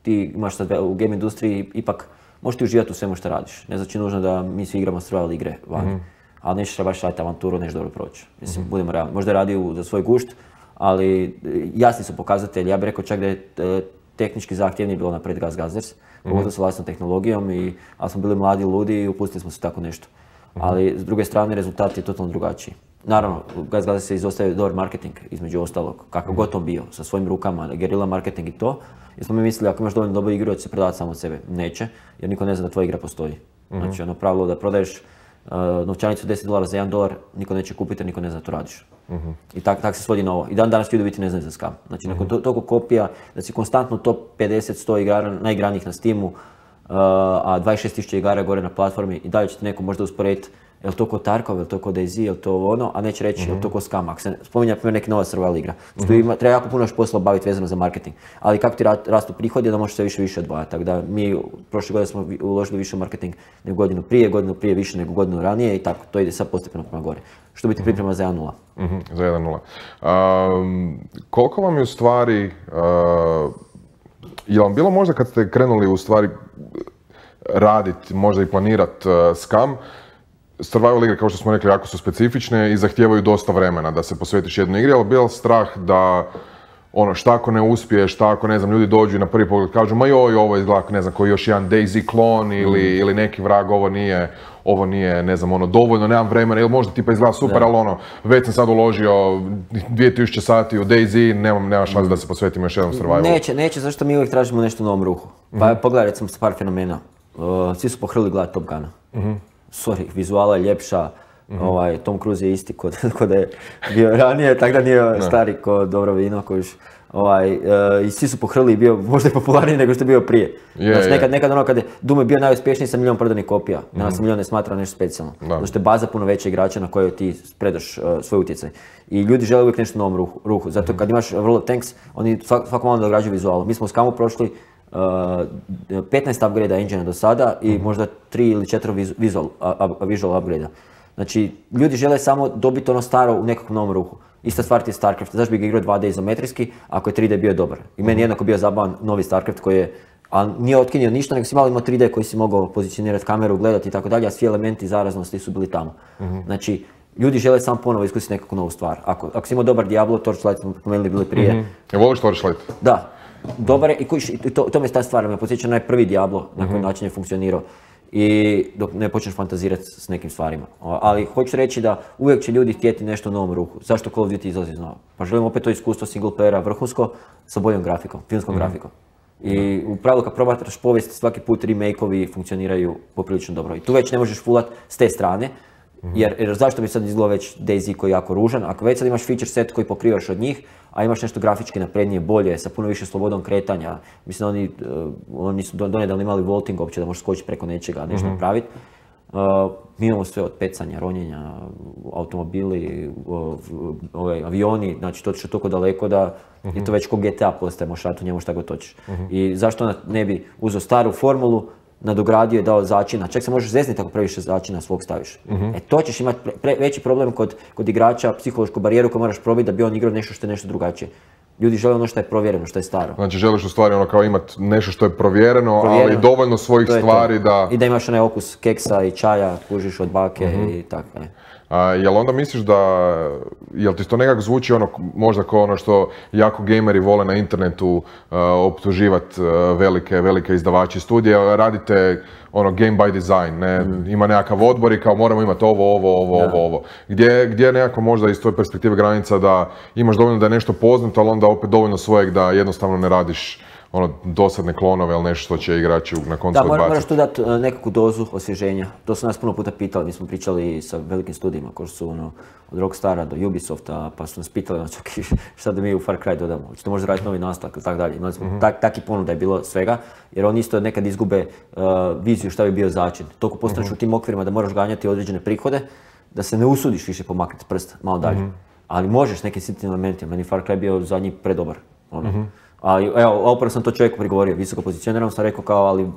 ti imaš sad u game industriji ipak možeš ti uživati u svemu što radiš. Ne znači nužno da mi svi igramo survival igre vani. Mm-hmm. Ali nećeš baš raditi avanturu, nećeš dobro proći. Mislim, mm-hmm. budemo realni. Možda je radio za svoj gušt, ali jasni su pokazatelji. Ja bih rekao čak da je tehnički zahtjevnije bilo napred Gus Gazers, mm-hmm. pogotovo sa vlastnom tehnologijom, i, ali smo bili mladi, ludi i upustili smo se tako nešto. Mm-hmm. Ali s druge strane rezultat je totalno drugačiji. Naravno, Gus Gazers se izostavio dobar marketing, između ostalog, kakav god on bio, sa svojim rukama, gerila marketing i to. Jer smo mi mislili, ako imaš dovoljno dobru igru, da će se prodavati samo od sebe. Neće, jer niko ne zna da tvoja igra postoji. Mm-hmm. Znači, ono pravilo da prodaješ uh, novčanicu deset dolara za jedan dolar, niko neće kupiti jer niko ne zna da to radiš. Uh-huh. I tako tak se svodi na ovo. I dan danas ljudi biti ne znaju za skam. Znači, nakon uh-huh. toliko kopija, da si konstantno top pedeset sto igara, najigranijih na Steamu, uh, a dvadeset šest tisuća igara gore na platformi i dalje će te neko možda usporediti je li to ko Tarkov, je li to ko DayZ, je li to ono, a neće reći mm-hmm. je li to ko Scum. Ako se spominja primjer neka nova survival igra. Mm-hmm. Ima, treba jako puno još posla obaviti vezano za marketing. Ali kako ti rastu prihodi, da možeš sve više više odvajati. Tako da mi prošle godine smo uložili više u marketing nego godinu prije, godinu prije više nego godinu ranije i tako. To ide sad postepeno prema gore. Što biti priprema mm-hmm. za jedan nula. Mm-hmm. Za jedan nula. Um, koliko vam je u stvari, uh, je vam bilo možda kad ste krenuli u stvari raditi, možda i planirati uh, Scum, survival igre, kao što smo rekli, jako su specifične i zahtijevaju dosta vremena da se posvetiš jednoj igri, ali bio strah da ono, šta ako ne uspiješ, šta ako, ne znam, ljudi dođu i na prvi pogled kažu ma joj, ovo izgleda, ne znam, koji još jedan DayZ klon ili, mm. ili neki vrag, ovo nije, ovo nije, ne znam, ono, dovoljno, nemam vremena, ili možda tipa izgleda super, da. Ali ono, već sam sad uložio dvije tisuće sati u DayZ, nemam, nemam šanse mm. da se posvetim još jednom survivalu. Neće, neće, zašto mi uvijek tražimo nešto u novom ruhu. Pa mm. pogledaj, recimo, par fenomena. Uh, svi su pohrlili gledati Top Guna. Mm-hmm. Sorry, vizuala je ljepša, mm-hmm. ovaj, Tom Cruise je isti kod, kod da je bio ranije, tako da nije stari kod dobro vino kojiš. Ovaj, uh, i svi su pohrlili i bio možda i popularniji nego što je bio prije. Yeah, znači, nekad, nekad ono kad je Doom je bio najuspješniji sa milijon prodanih kopija, mm-hmm. danas milijon ne smatra nešto specijalno. Zato što je baza puno veća igrača na kojoj ti predaš uh, svoj utjecaj. I ljudi žele uvijek nešto u novom ruhu. ruhu. Zato kad imaš World of Tanks, oni svak, svako malo dograđuju vizualu. Mi smo u Scumu prošli Uh, petnaest upgrade-a engine do sada i mm-hmm. možda tri ili četiri visual, uh, visual upgrade-a. Znači, ljudi žele samo dobiti ono staro u nekakvom novom ruhu. Ista stvar ti je StarCraft, zašto bi ga igrao dva D izometrijski ako je tri D bio dobar. I meni je jednako bio zabavan novi StarCraft koji je, a nije otkinio ništa, nego si malo imao tri D koji si mogao pozicionirati kameru, gledati i tako dalje, a svi elementi zaraznosti su bili tamo. Mm-hmm. Znači, ljudi žele samo ponovo iskusiti nekakvu novu stvar. Ako, ako si imao dobar Diablo, Torchlight smo pomenuli bili prije. Mm-hmm. Je voliš Torchlight? Da. Dobar je, i to, to mi je ta stvar, me podsjeća na prvi Diablo, na koji mm-hmm. način je funkcionirao. I dok ne počneš fantazirati s nekim stvarima. Ali hoću reći da uvijek će ljudi htjeti nešto u novom ruhu. Zašto Call of Duty izlazi znao? Pa želim opet to iskustvo single playera vrhunsko sa boljom grafikom, filmskom mm-hmm. grafikom. I u pravilu kad probatraš povijest, svaki put remake-ovi funkcioniraju poprilično dobro. I tu već ne možeš fullat s te strane, mm-hmm. jer, jer zašto bi sad izgledao već DayZ koji je jako ružan, ako već sad imaš feature set koji pokrivaš od njih, a imaš nešto grafički naprednije, bolje, sa puno više slobodom kretanja. Mislim, oni, uh, oni su donedavno imali vaulting uopće da možeš skočiti preko nečega, nešto mm-hmm. napraviti. Uh, mi imamo sve od pecanja, ronjenja, automobili, uh, ove, avioni, znači to je toliko daleko da mm-hmm. je to već ko G T A postaje, možeš raditi u njemu šta god hoćeš. Mm-hmm. I zašto ne bi uzeo staru formulu, nadogradio i dao začina, čak se možeš zezniti ako previše začina svog staviš. Mm-hmm. E to ćeš imati pre, pre, veći problem kod, kod igrača, psihološku barijeru koju moraš probiti da bi on igrao nešto što je nešto drugačije. Ljudi žele ono što je provjereno, što je staro. Znači želiš u stvari ono kao imati nešto što je provjereno, provjereno ali dovoljno svojih stvari to. Da... I da imaš onaj okus keksa i čaja, kužiš od bake mm-hmm. i tako. Ne. A, jel onda misliš da, jel ti to nekako zvuči ono, možda kao ono što jako gameri vole na internetu uh, optuživati uh, velike, velike izdavači studija, radite ono game by design, ne? Mm. Ima nekakav odbor i kao moramo imati ovo, ovo, ovo, da. ovo, ovo. Gdje, gdje je nekako možda iz tvoje perspektive granica da imaš dovoljno da je nešto poznato, ali onda opet dovoljno svojeg da jednostavno ne radiš ono dosadne klonove ili nešto što će igrači na koncu odbaciti. Da, moraš tu dati nekakvu dozu osvježenja. To su nas puno puta pitali, mi smo pričali sa velikim studijima koji su ono, od Rockstara do Ubisofta, pa su nas pitali ono, čak, šta da mi u Far Cry dodamo, hoćete možda raditi novi nastavak ili tako dalje. Imali smo mm-hmm. tak, taki ponuda je bilo svega, jer oni isto nekad izgube uh, viziju šta bi bio začin. Toliko postaneš mm-hmm. u tim okvirima da moraš ganjati određene prihode, da se ne usudiš više pomaknuti prst malo dalje. Mm-hmm. Ali možeš nekim sitnim elementima, meni Far Cry bio zadnji predobar. Ono. Mm-hmm. Ali evo, upravo sam to čovjeku prigovorio, visoko pozicioniram, sam rekao kao, ali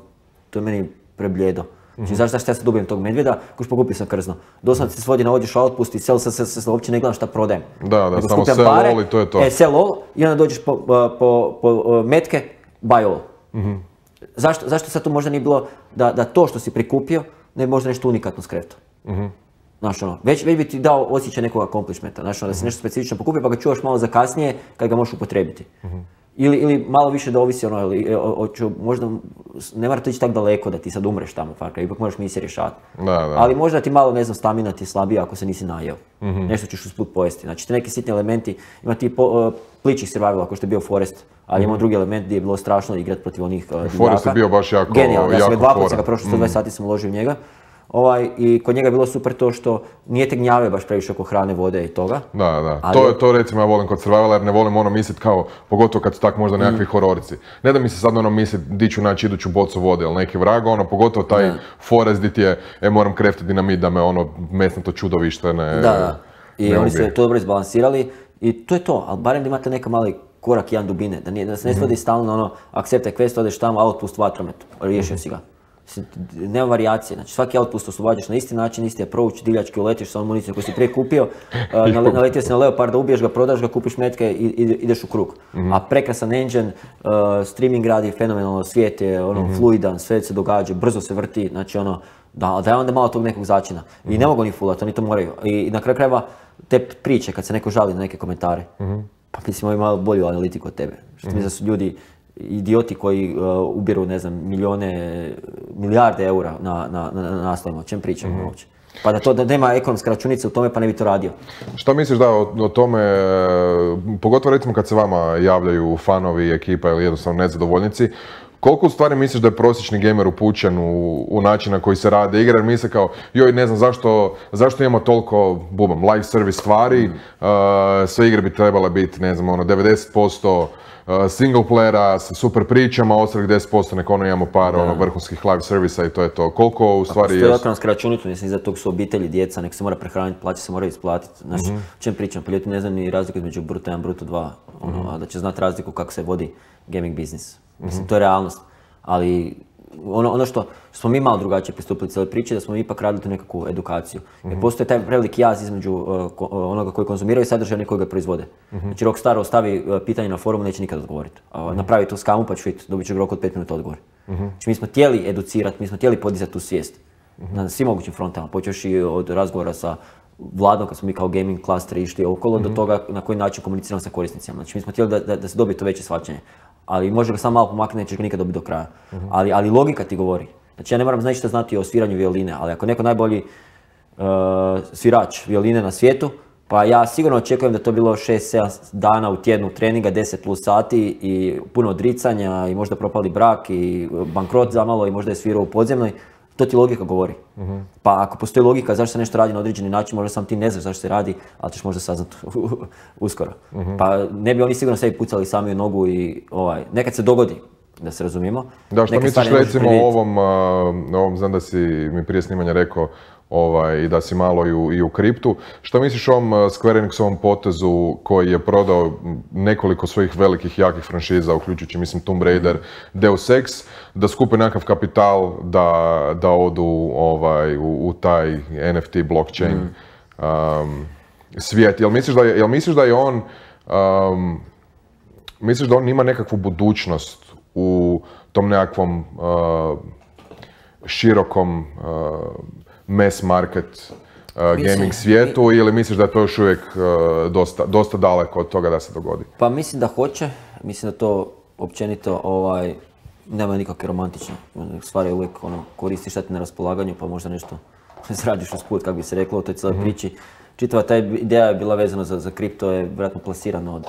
to je meni prebljedo. Znači, mm-hmm. zašto ja sad dobijem tog medvjeda, koš pokupio sam krzno. Doslovno se svodi na odješ outpust i sell, se, se, se, se uopće ne gledam šta prodajem. Da, da, nego samo sell all i to je to. E, sell all i onda dođeš po, po, po metke, buy all. Mm-hmm. Zašto, zašto sad to možda nije bilo da, da to što si prikupio, ne bi možda nešto unikatno skreto? Mm-hmm. Znaš ono, već, već bi ti dao osjećaj nekog accomplishmenta, znaš ono, da si nešto specifično pokupio pa ga čuvaš malo za kasnije kad ga možeš upotrijebiti. Mm-hmm. Ili, ili malo više da ovisi ono, ili, o, o, o, možda ne mora to ići tako daleko da ti sad umreš tamo, Far Cry, ipak moraš misije rješavati. Da, da. Ali možda ti malo, ne znam, stamina ti je slabija ako se nisi najeo. Mm-hmm. Nešto ćeš usput pojesti. Znači, te neki sitni elementi, ima ti po, uh, pličih survival ako što je bio Forest, ali mm-hmm. ima drugi element gdje je bilo strašno igrati protiv onih uh, divljaka. Forest je bio baš jako, genijalno, ja sam ga dva puta ga prošlo, sto dvadeset mm-hmm. sati sam uložio u njega. Ovaj, i kod njega je bilo super to što nije te gnjave baš previše oko hrane, vode i toga. Da, da. Ali... To, to recimo ja volim kod survivala jer ne volim ono misliti kao, pogotovo kad su tak možda nekakvi mm. hororici. Ne da mi se sad ono misli di ću naći iduću bocu vode ili neki vrag, ono pogotovo taj da. forest di ti je, e moram kreftiti dinamit da me ono mesnato čudovište ne... Da, da. I ne oni su to dobro izbalansirali i to je to, ali barem da imate neka mali korak jedan dubine, da, nije, da se ne svodi mm-hmm. stalno ono, accept a quest, odeš tamo, outpost vatromet, riješio mm-hmm. si ga. Nema varijacije, znači svaki outpost oslobađaš na isti način, isti approach, divljački uletiš sa onom municijom koju si prije kupio, uh, naletio si na leoparda, ubiješ ga, prodaš ga, kupiš metke i ideš u krug. Mm-hmm. A prekrasan engine, uh, streaming radi fenomenalno, svijet je ono, mm-hmm. fluidan, sve se događa, brzo se vrti, znači ono, da, da je onda malo tog nekog začina. Mm-hmm. I ne mogu ni fulati, oni to moraju. I na kraju krajeva te priče, kad se neko žali na neke komentare, mm-hmm. pa mislim imaju malo bolju analitiku od tebe. Što mm-hmm. mi da su ljudi idioti koji uh, ubiru, ne znam, milijone, milijarde eura na, na, na, na naslovima, o čem pričamo mm-hmm. uopće. Pa da to da nema ekonomska računica u tome, pa ne bi to radio. Šta misliš da o, o tome, pogotovo recimo kad se vama javljaju fanovi, ekipa ili jednostavno nezadovoljnici, koliko u stvari misliš da je prosječni gamer upućen u, u način na koji se rade igre, jer misle kao, joj ne znam zašto, zašto imamo toliko, bubam, live service stvari, mm. uh, sve igre bi trebale biti, ne znam, ono, devedeset posto single playera sa super pričama, ostalih deset posto nek ono imamo par ono, vrhunskih live servisa i to je to. Koliko u stvari je... Postoji ekonomska računica, mislim, iza tog su obitelji, djeca, nek se mora prehraniti, plaće se moraju isplatiti. Znači, mm-hmm. o čem pričam? Pa ljudi ne znam ni razliku između Bruto jedan, Bruto dva, ono, mm-hmm. a da će znati razliku kako se vodi gaming biznis. Mislim, mm-hmm. to je realnost. Ali ono, ono što smo mi malo drugačije pristupili cijeloj priči, da smo mi ipak radili tu nekakvu edukaciju. Mm-hmm. Jer postoji taj preveliki jaz između uh, ko, onoga koji konzumiraju i sadržaja koji ga proizvode. Mm-hmm. Znači Rockstar ostavi uh, pitanje na forumu, neće nikad odgovoriti. Uh, mm-hmm. Napravi to skamu pa ću vidjeti, dobit ću rok od pet minuta odgovor. Mm-hmm. Znači mi smo htjeli educirati, mi smo htjeli podizati tu svijest. Mm-hmm. Na svim mogućim frontama, počevši od razgovora sa Vladom, kad smo mi kao gaming klasteri išli okolo, mm-hmm. do toga na koji način komuniciramo sa korisnicima. Znači mi smo htjeli da, da, da se dobije to veće shvaćanje. Ali može ga samo malo pomaknuti, nećeš ga nikad dobiti do kraja. Mm-hmm. Ali, ali logika ti govori. Znači ja ne moram znači znati o sviranju violine, ali ako neko najbolji uh, svirač violine na svijetu, pa ja sigurno očekujem da to bilo šest sedam dana u tjednu treninga, deset plus sati i puno odricanja i možda propali brak i bankrot zamalo i možda je svirao u podzemnoj. To ti logika govori. Mm-hmm. Pa ako postoji logika zašto se nešto radi na određeni način, možda sam ti ne znaš zašto se radi, ali ćeš možda saznati uskoro. Mm-hmm. Pa ne bi oni sigurno sebi pucali sami u nogu i ovaj, nekad se dogodi, da se razumijemo. Da, što misliš recimo o ovom, uh, ovom, znam da si mi prije snimanja rekao, ovaj, i da si malo i u, i u kriptu. Što misliš o ovom Square Enixovom potezu koji je prodao nekoliko svojih velikih, jakih franšiza, uključujući, mislim, Tomb Raider, Deus Ex, da skupe nekakav kapital da, da odu ovaj, u, u taj N F T blockchain mm. um, svijet. Jel misliš da je, jel misliš da je on, um, misliš da on ima nekakvu budućnost u tom nekakvom uh, širokom uh, mass market uh, gaming svijetu ili misliš da je to još uvijek uh, dosta, dosta daleko od toga da se dogodi? Pa mislim da hoće, mislim da to općenito ovaj, nema nikakve romantične stvari, uvijek ono, koristiš šta ti na raspolaganju pa možda nešto zradiš usput, kako bi se reklo u toj cijeloj mm-hmm. priči. Čitava ta ideja je bila vezana za, za kripto, je vjerojatno plasirano od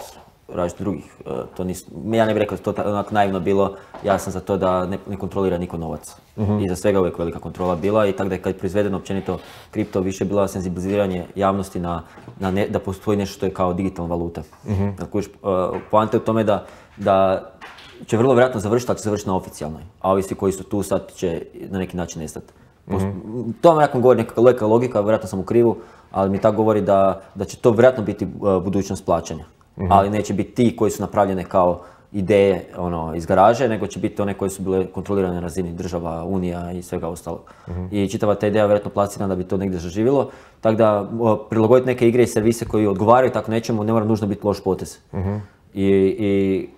različitih drugih. To nis, ja ne bih rekao da to onako naivno bilo, ja sam za to da ne, ne kontrolira niko novac. Mm-hmm. I za svega uvijek velika kontrola bila i tako da je kad je proizvedeno općenito kripto više bila senzibiliziranje javnosti na, na ne, da postoji nešto što je kao digitalna valuta. Mm-hmm. Dakle, uh, poanta je u tome da, da će vrlo vjerojatno završiti, ali će završiti na oficijalnoj. A ovi svi koji su tu sad će na neki način nestati. Mm-hmm. To vam vjerojatno govori neka logika, logika, vjerojatno sam u krivu, ali mi tako govori da, da će to vjerojatno biti uh, budućnost plaćanja. Mm-hmm. Ali neće biti ti koji su napravljene kao ideje ono, iz garaže, nego će biti one koje su bile kontrolirane na razini država, unija i svega ostalog. Mm-hmm. I čitava ta ideja vjerojatno plasirana da bi to negdje zaživjelo. Tako da prilagoditi neke igre i servise koji odgovaraju tako nečemu ne mora nužno biti loš potez. Mm-hmm. I, i,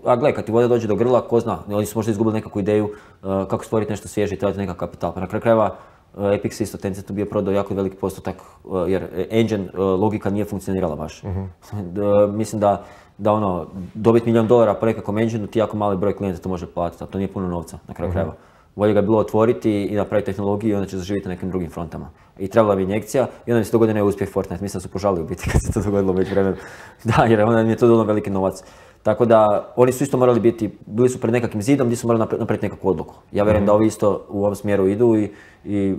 a gle, kad ti voda dođe do grla, ko zna, oni su možda izgubili nekakvu ideju uh, kako stvoriti nešto svježe i trebati nekakav kapital. Pa na kraju krajeva uh, Epic isto Tencent bio prodao jako veliki postotak uh, jer engine uh, logika nije funkcionirala baš. Mm-hmm. uh, mislim da Da ono, dobiti milijun dolara po nekakvom engineu ti jako mali broj klijenta to može platiti, a to nije puno novca na kraju krajeva. Bolje ga je bilo otvoriti i napraviti tehnologiju i onda će zaživjeti na nekim drugim frontama. I trebala bi injekcija i onda mi se dogodio neuspjeh Fortnite, mislim da su požalili u biti kad se to dogodilo već vremenu. Da, jer onda mi je to donalo veliki novac. Tako da oni su isto morali biti, bili su pred nekakvim zidom gdje su morali napraviti nekakvu odluku. Ja vjerujem mm-hmm. da ovi isto u ovom smjeru idu i, i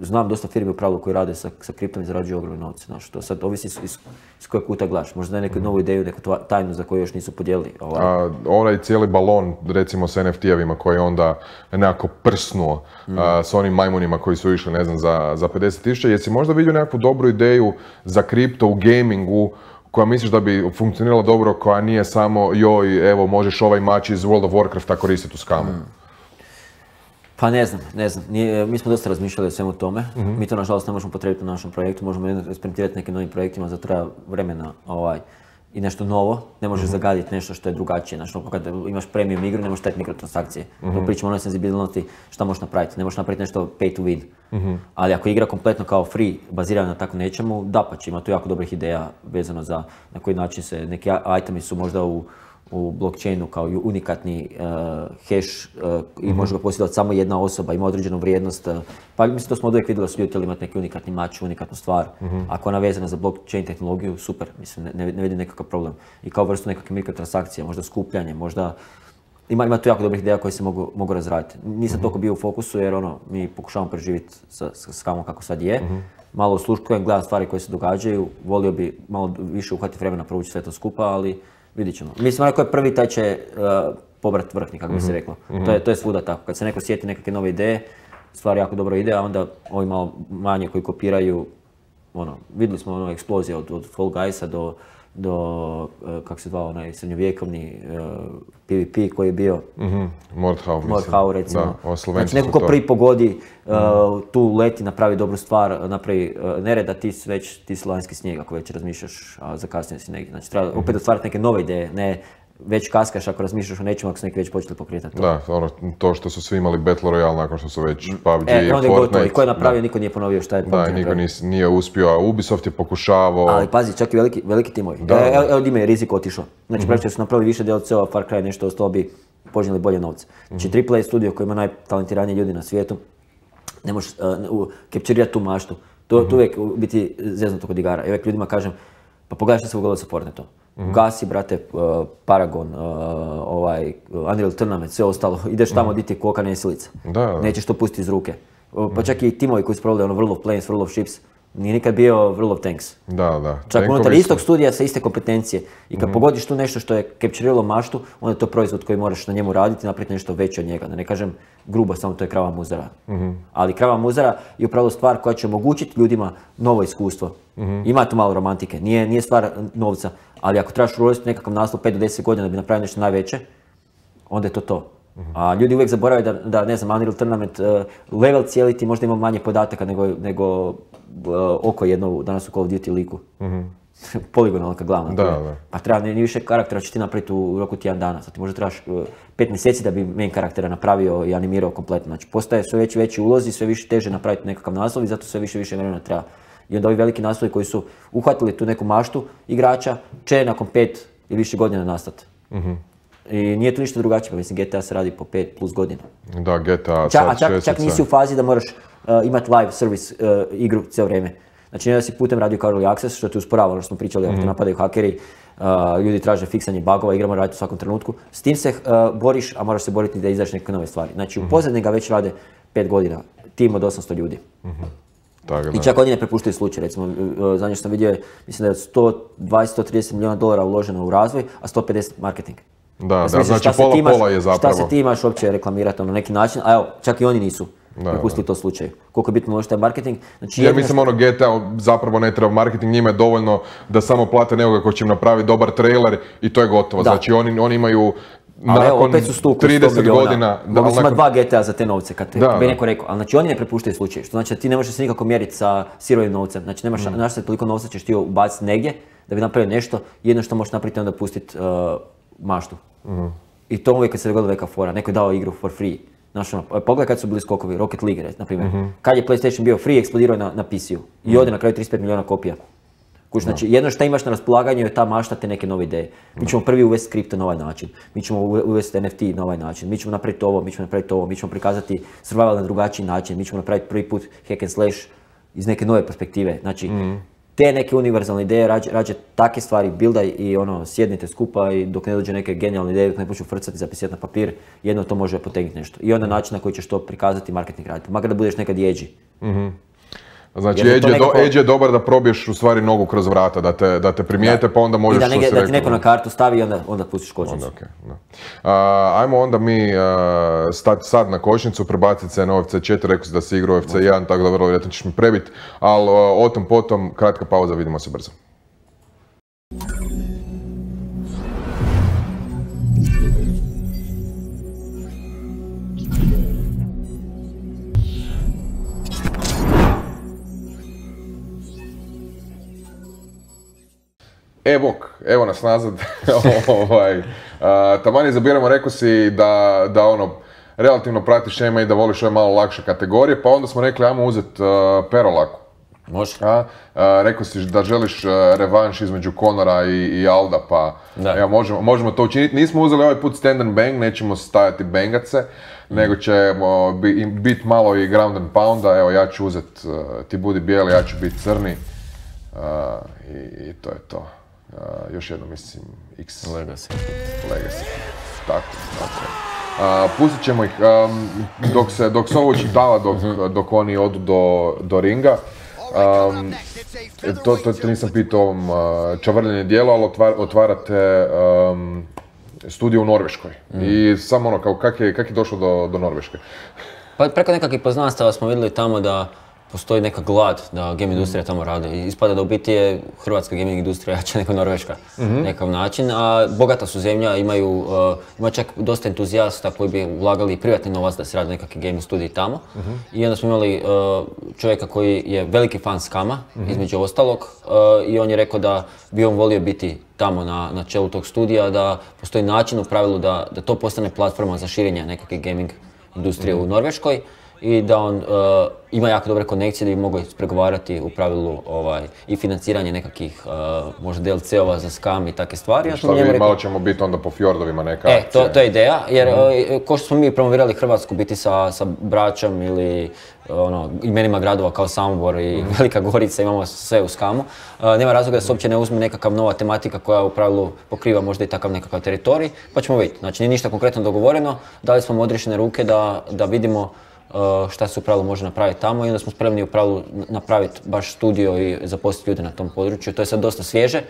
znam dosta firmi u pravilu koji rade sa, sa kriptom i zarađuju ogromne novce. Znaš, to sad ovisi iz, iz, iz kojeg kuta gledaš. Možda da je neku novu ideju, neku tajnu za koju još nisu podijelili. Ovaj. A, onaj cijeli balon, recimo s en ef ti-evima koji je onda nekako prsnuo mm. a, s onim majmunima koji su išli, ne znam, za, za pedeset tisuća. Jesi možda vidio nekakvu dobru ideju za kripto u gamingu koja misliš da bi funkcionirala dobro, koja nije samo joj, evo, možeš ovaj mač iz World of Warcrafta koristiti u skamu? Mm. Pa ne znam, ne znam. Nije, mi smo dosta razmišljali o svemu tome. Mm-hmm. Mi to nažalost ne možemo potrebiti u našem projektu, možemo eksperimentirati nekim novim projektima, za treba vremena ovaj, i nešto novo. Ne možeš mm-hmm. zagaditi nešto što je drugačije. Znači, kad imaš premium igru, ne možeš staviti mikrotransakcije. Mm-hmm. Pričamo o onoj senzibilnosti šta možeš napraviti. Ne možeš napraviti nešto pay to win. Mm-hmm. Ali ako igra kompletno kao free, bazirana na tako nečemu, dapače, ima tu jako dobrih ideja vezano za na koji način se neki itemi su možda u u blockchainu kao unikatni uh, hash uh, i mm-hmm. može ga posjedovati samo jedna osoba, ima određenu vrijednost. Uh, pa mislim, to smo od uvijek vidjeli da su ljudi htjeli imati neki unikatni mač, unikatnu stvar. Mm-hmm. Ako je ona vezana za blockchain tehnologiju, super, mislim, ne, ne, ne vidim nekakav problem. I kao vrstu nekakve mikrotransakcije, možda skupljanje, možda... Ima, ima tu jako dobrih ideja koje se mogu, mogu razraditi. Nisam mm-hmm. toliko bio u fokusu jer ono, mi pokušavamo preživjeti sa, sa skamom kako sad je. Mm-hmm. Malo usluškujem, gledam stvari koje se događaju, volio bi malo više uhvatiti vremena provući sve to skupa, ali vidit ćemo. Mislim, onaj ko je prvi, taj će uh, pobrat vrhni, kako bi se reklo. Mm-hmm. To je, to je svuda tako. Kad se neko sjeti nekakve nove ideje, stvar jako dobro ide, a onda ovi malo manje koji kopiraju, ono, vidjeli smo ono eksplozije od, od Fall Guysa do, do uh, kako se zvao, onaj srednjovjekovni uh, P V P koji je bio. Mm-hmm. Mordhau, mislim. Mordhau, recimo. Da, znači, neko ko prvi pogodi, uh, mm-hmm. tu leti, napravi dobru stvar, napravi uh, nereda, ti si već, ti si lanjski snijeg ako već razmišljaš, a zakasnije si negdje. Znači, treba mm-hmm. opet otvarati neke nove ideje, ne već kaskaš ako razmišljaš o nečemu ako su neki već počeli pokretati to. Da, ono, to što su svi imali Battle Royale nakon što su već P U B G, e, Fortnite. Gotovo. I ko je napravio, da. Niko nije ponovio šta je P U B G napravio. Da, niko nis, nije uspio, a Ubisoft je pokušavao. Ali pazi, čak i veliki, veliki timovi. Da, e, evo Dime je rizik otišao. Znači, mm-hmm. pravi su napravili više D L C-ova, Far Cry nešto ostalo bi poželjeli bolje novce. Znači, mm-hmm. triple A studio koji ima najtalentiranije ljudi na svijetu, ne možeš uh, capturirati tu maštu. To, mm-hmm. to uvijek biti zeznuto kod igara. I uvijek ljudima kažem, pa pogledaj što se ugodilo sa Fortniteom. Mm-hmm. Gasi, brate, uh, Paragon, uh, ovaj, Unreal Tournament, sve ostalo. Ideš tamo mm-hmm. di ti je koka nesilica. Da, da. Nećeš to pustiti iz ruke. Uh, pa čak i timovi koji su proveli ono World of Planes, World of Ships, nije nikad bio World of Tanks. Da, da. Čak Tankovi unutar istog studija sa iste kompetencije. I kad mm-hmm. pogodiš tu nešto što je capturiralo maštu, onda je to proizvod koji moraš na njemu raditi i napraviti nešto veće od njega. Da ne kažem grubo, samo to je krava muzara. Mm-hmm. Ali krava muzara je upravo stvar koja će omogućiti ljudima novo iskustvo. Mm-hmm. Ima tu malo romantike, nije, nije stvar novca. Ali ako trebaš uložiti nekakav naslov pet do deset godina da bi napravio nešto najveće, onda je to to. Mm-hmm. A ljudi uvijek zaboravaju da, da ne znam, Unreal Tournament, uh, level cijeli ti možda ima manje podataka nego, nego uh, oko jedno danas u Call of Duty liku. Mm-hmm. Poligonalka glavna. Da, da. Pa treba ni više karaktera će ti napraviti u roku tjedan dana. Sad ti možda trebaš uh, pet mjeseci da bi main karaktera napravio i animirao kompletno. Znači postaje sve veći veći ulozi, sve više teže napraviti nekakav naslov i zato sve više više vremena treba. I onda ovi veliki naslovi koji su uhvatili tu neku maštu igrača će nakon pet ili više godina nastati. Mm-hmm. I nije tu ništa drugačije, pa mislim G T A se radi po pet plus godina. Da, G T A Ča, sad čak, čak nisi u fazi da moraš uh, imati live service uh, igru cijelo vrijeme. Znači ne da si putem radio kao early access, što te usporava, ono što smo pričali, mm-hmm. ako te napadaju hakeri, uh, ljudi traže fiksanje bugova, igra mora raditi u svakom trenutku. S tim se uh, boriš, a moraš se boriti da izađeš neke nove stvari. Znači mm-hmm. u pozadini ga već rade pet godina, tim od osamsto ljudi. Mm-hmm. Tako, I čak oni ne prepuštaju slučaj, recimo, zadnje što sam vidio je, mislim da je sto dvadeset do sto trideset milijuna dolara uloženo u razvoj, a sto pedeset marketing. Da, da, mislim, znači pola imaš, pola je zapravo. Šta se ti imaš uopće reklamirati na neki način, a evo, čak i oni nisu prepustili to slučaju. Koliko je bitno uložiti taj marketing. Znači, ja mislim što... ono G T A zapravo ne treba marketing, njima je dovoljno da samo plate nekoga ko će im napravi dobar trailer i to je gotovo. Da. Znači oni, oni imaju ali evo, opet su stuku trideset godina. Mogli su imati dva G T A za te novce, kad te, bi neko rekao. Ali znači oni ne prepuštaju slučaj, što znači da ti ne možeš se nikako mjeriti sa sirovim novcem. Znači nemaš mm. našto toliko novca ćeš ti ubaciti negdje da bi napravio nešto, jedno što možeš napraviti onda pustiti uh, maštu. Mm. I to uvijek kad se dogodila neka fora, neko je dao igru for free. Znaš ono, pogledaj kad su bili skokovi, Rocket League, na primjer. Mm-hmm. Kad je PlayStation bio free, eksplodirao je na, na P C U. I ode na kraju trideset pet milijuna kopija. Kuć, znači, no. jedno što imaš na raspolaganju je ta mašta te neke nove ideje. Mi ćemo prvi uvesti kripto na ovaj način, mi ćemo uvesti N F T na ovaj način, mi ćemo napraviti ovo, mi ćemo napraviti ovo, mi ćemo prikazati survival na drugačiji način, mi ćemo napraviti prvi put hack and slash iz neke nove perspektive. Znači, mm. te neke univerzalne ideje, rađe, rađe takve stvari buildaj i ono, sjednite skupa i dok ne dođe neke genijalne ideje, dok ne počnu frcati, zapisati na papir, jedno to može potegnuti nešto. I onda način na koji ćeš to prikazati marketing raditi, makar da budeš nekad jeđi. Mm-hmm. Znači, Edge je, nekako... do, Edge je dobar da probiješ u stvari nogu kroz vrata, da te, da te primijete, da. Pa onda možeš... I da, nege, da ti neko na kartu stavi i onda, onda pustiš kočnicu. Onda, okay, da. uh, ajmo onda mi uh, stati sad na kočnicu, prebaciti se na U F C četiri, rekao si da si igrao U F C jedan, tako da vrlo vjerojatno ćeš mi prebiti, ali uh, o tom potom, kratka pauza, vidimo se brzo. E bok, evo nas nazad. ovaj, uh, taman izabiramo, rekao si da, da ono, relativno pratiš M M A i da voliš ove malo lakše kategorije, pa onda smo rekli ajmo uzeti uh, Perolaku. Može. A, uh, rekao si da želiš uh, revanš između Conora i, i Alda, pa evo, možemo, možemo to učiniti. Nismo uzeli ovaj put stand and bang, nećemo stajati bengace, mm. nego ćemo bi, biti malo i ground and pounda. Evo, ja ću uzeti, uh, ti budi bijeli, ja ću biti crni. Uh, i, I to je to. Uh, još jedno, mislim, X. Legacy. Legacy. Tako, tako. Uh, pustit ćemo ih um, dok se, dok se ovo učitava, dok, dok oni odu do, do ringa. Um, to, to, to nisam pitao ovom uh, čavrljenje dijelo, ali otvar, otvarate um, studio u Norveškoj. Mm. I samo ono, kao kak je, kak je došlo do, do Norveške? Pa preko nekakvih poznanstava smo vidjeli tamo da postoji neka glad da game industrija tamo radi. I ispada da u biti je hrvatska gaming industrija jača nego Norveška mm-hmm. nekakav način. A bogata su zemlja, imaju, uh, ima čak dosta entuzijasta koji bi ulagali privatni novac da se radi nekakvi gaming studiji tamo. Mm-hmm. I onda smo imali uh, čovjeka koji je veliki fan Skama, mm-hmm. između ostalog, uh, i on je rekao da bi on volio biti tamo na, na čelu tog studija, da postoji način u pravilu da, da to postane platforma za širenje nekakve gaming industrije mm-hmm. u Norveškoj. I da on uh, ima jako dobre konekcije da bi mogao ispregovarati u pravilu ovaj, i financiranje nekakvih uh, možda D L C-ova za Skam i takve stvari. Šta vi, rekao... malo ćemo biti onda po fjordovima neka E, to, to je ideja, jer mm-hmm. uh, ko što smo mi promovirali Hrvatsku biti sa, sa Bračom ili ono, imenima gradova kao Samobor i mm-hmm. Velika Gorica, imamo sve u Skamu. Uh, nema razloga da se uopće ne uzme nekakav nova tematika koja u pravilu pokriva možda i takav nekakav teritorij, pa ćemo vidjeti. Znači nije ništa konkretno dogovoreno, dali smo odriješene ruke da, da vidimo Uh, šta se u pravilu može napraviti tamo i onda smo spremni u pravilu napraviti baš studio i zaposliti ljude na tom području. To je sad dosta svježe,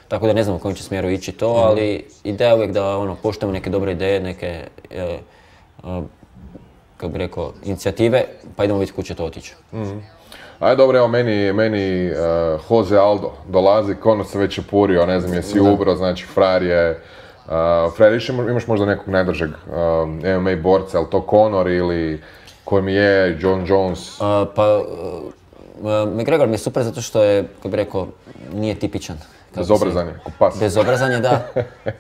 tako da ne znam u kojem će smjeru ići to, mm. ali ideja je uvijek da ono, poštujemo neke dobre ideje, neke, uh, uh, kako bi rekao, inicijative, pa idemo vidjeti kud će to otići. Mm. Ajde, dobro, evo meni, meni uh, Jose Aldo dolazi, Conor se već opurio, ne znam jesi ubro, znači frajer je, uh, frajer imaš možda nekog najdržeg um, M M A borca, ali to Conor ili koji mi je John Jones? Uh, pa, uh, McGregor mi je super zato što je, kako bi rekao, nije tipičan. Bezobrazan je, ko pas. Bezobrazan je, da,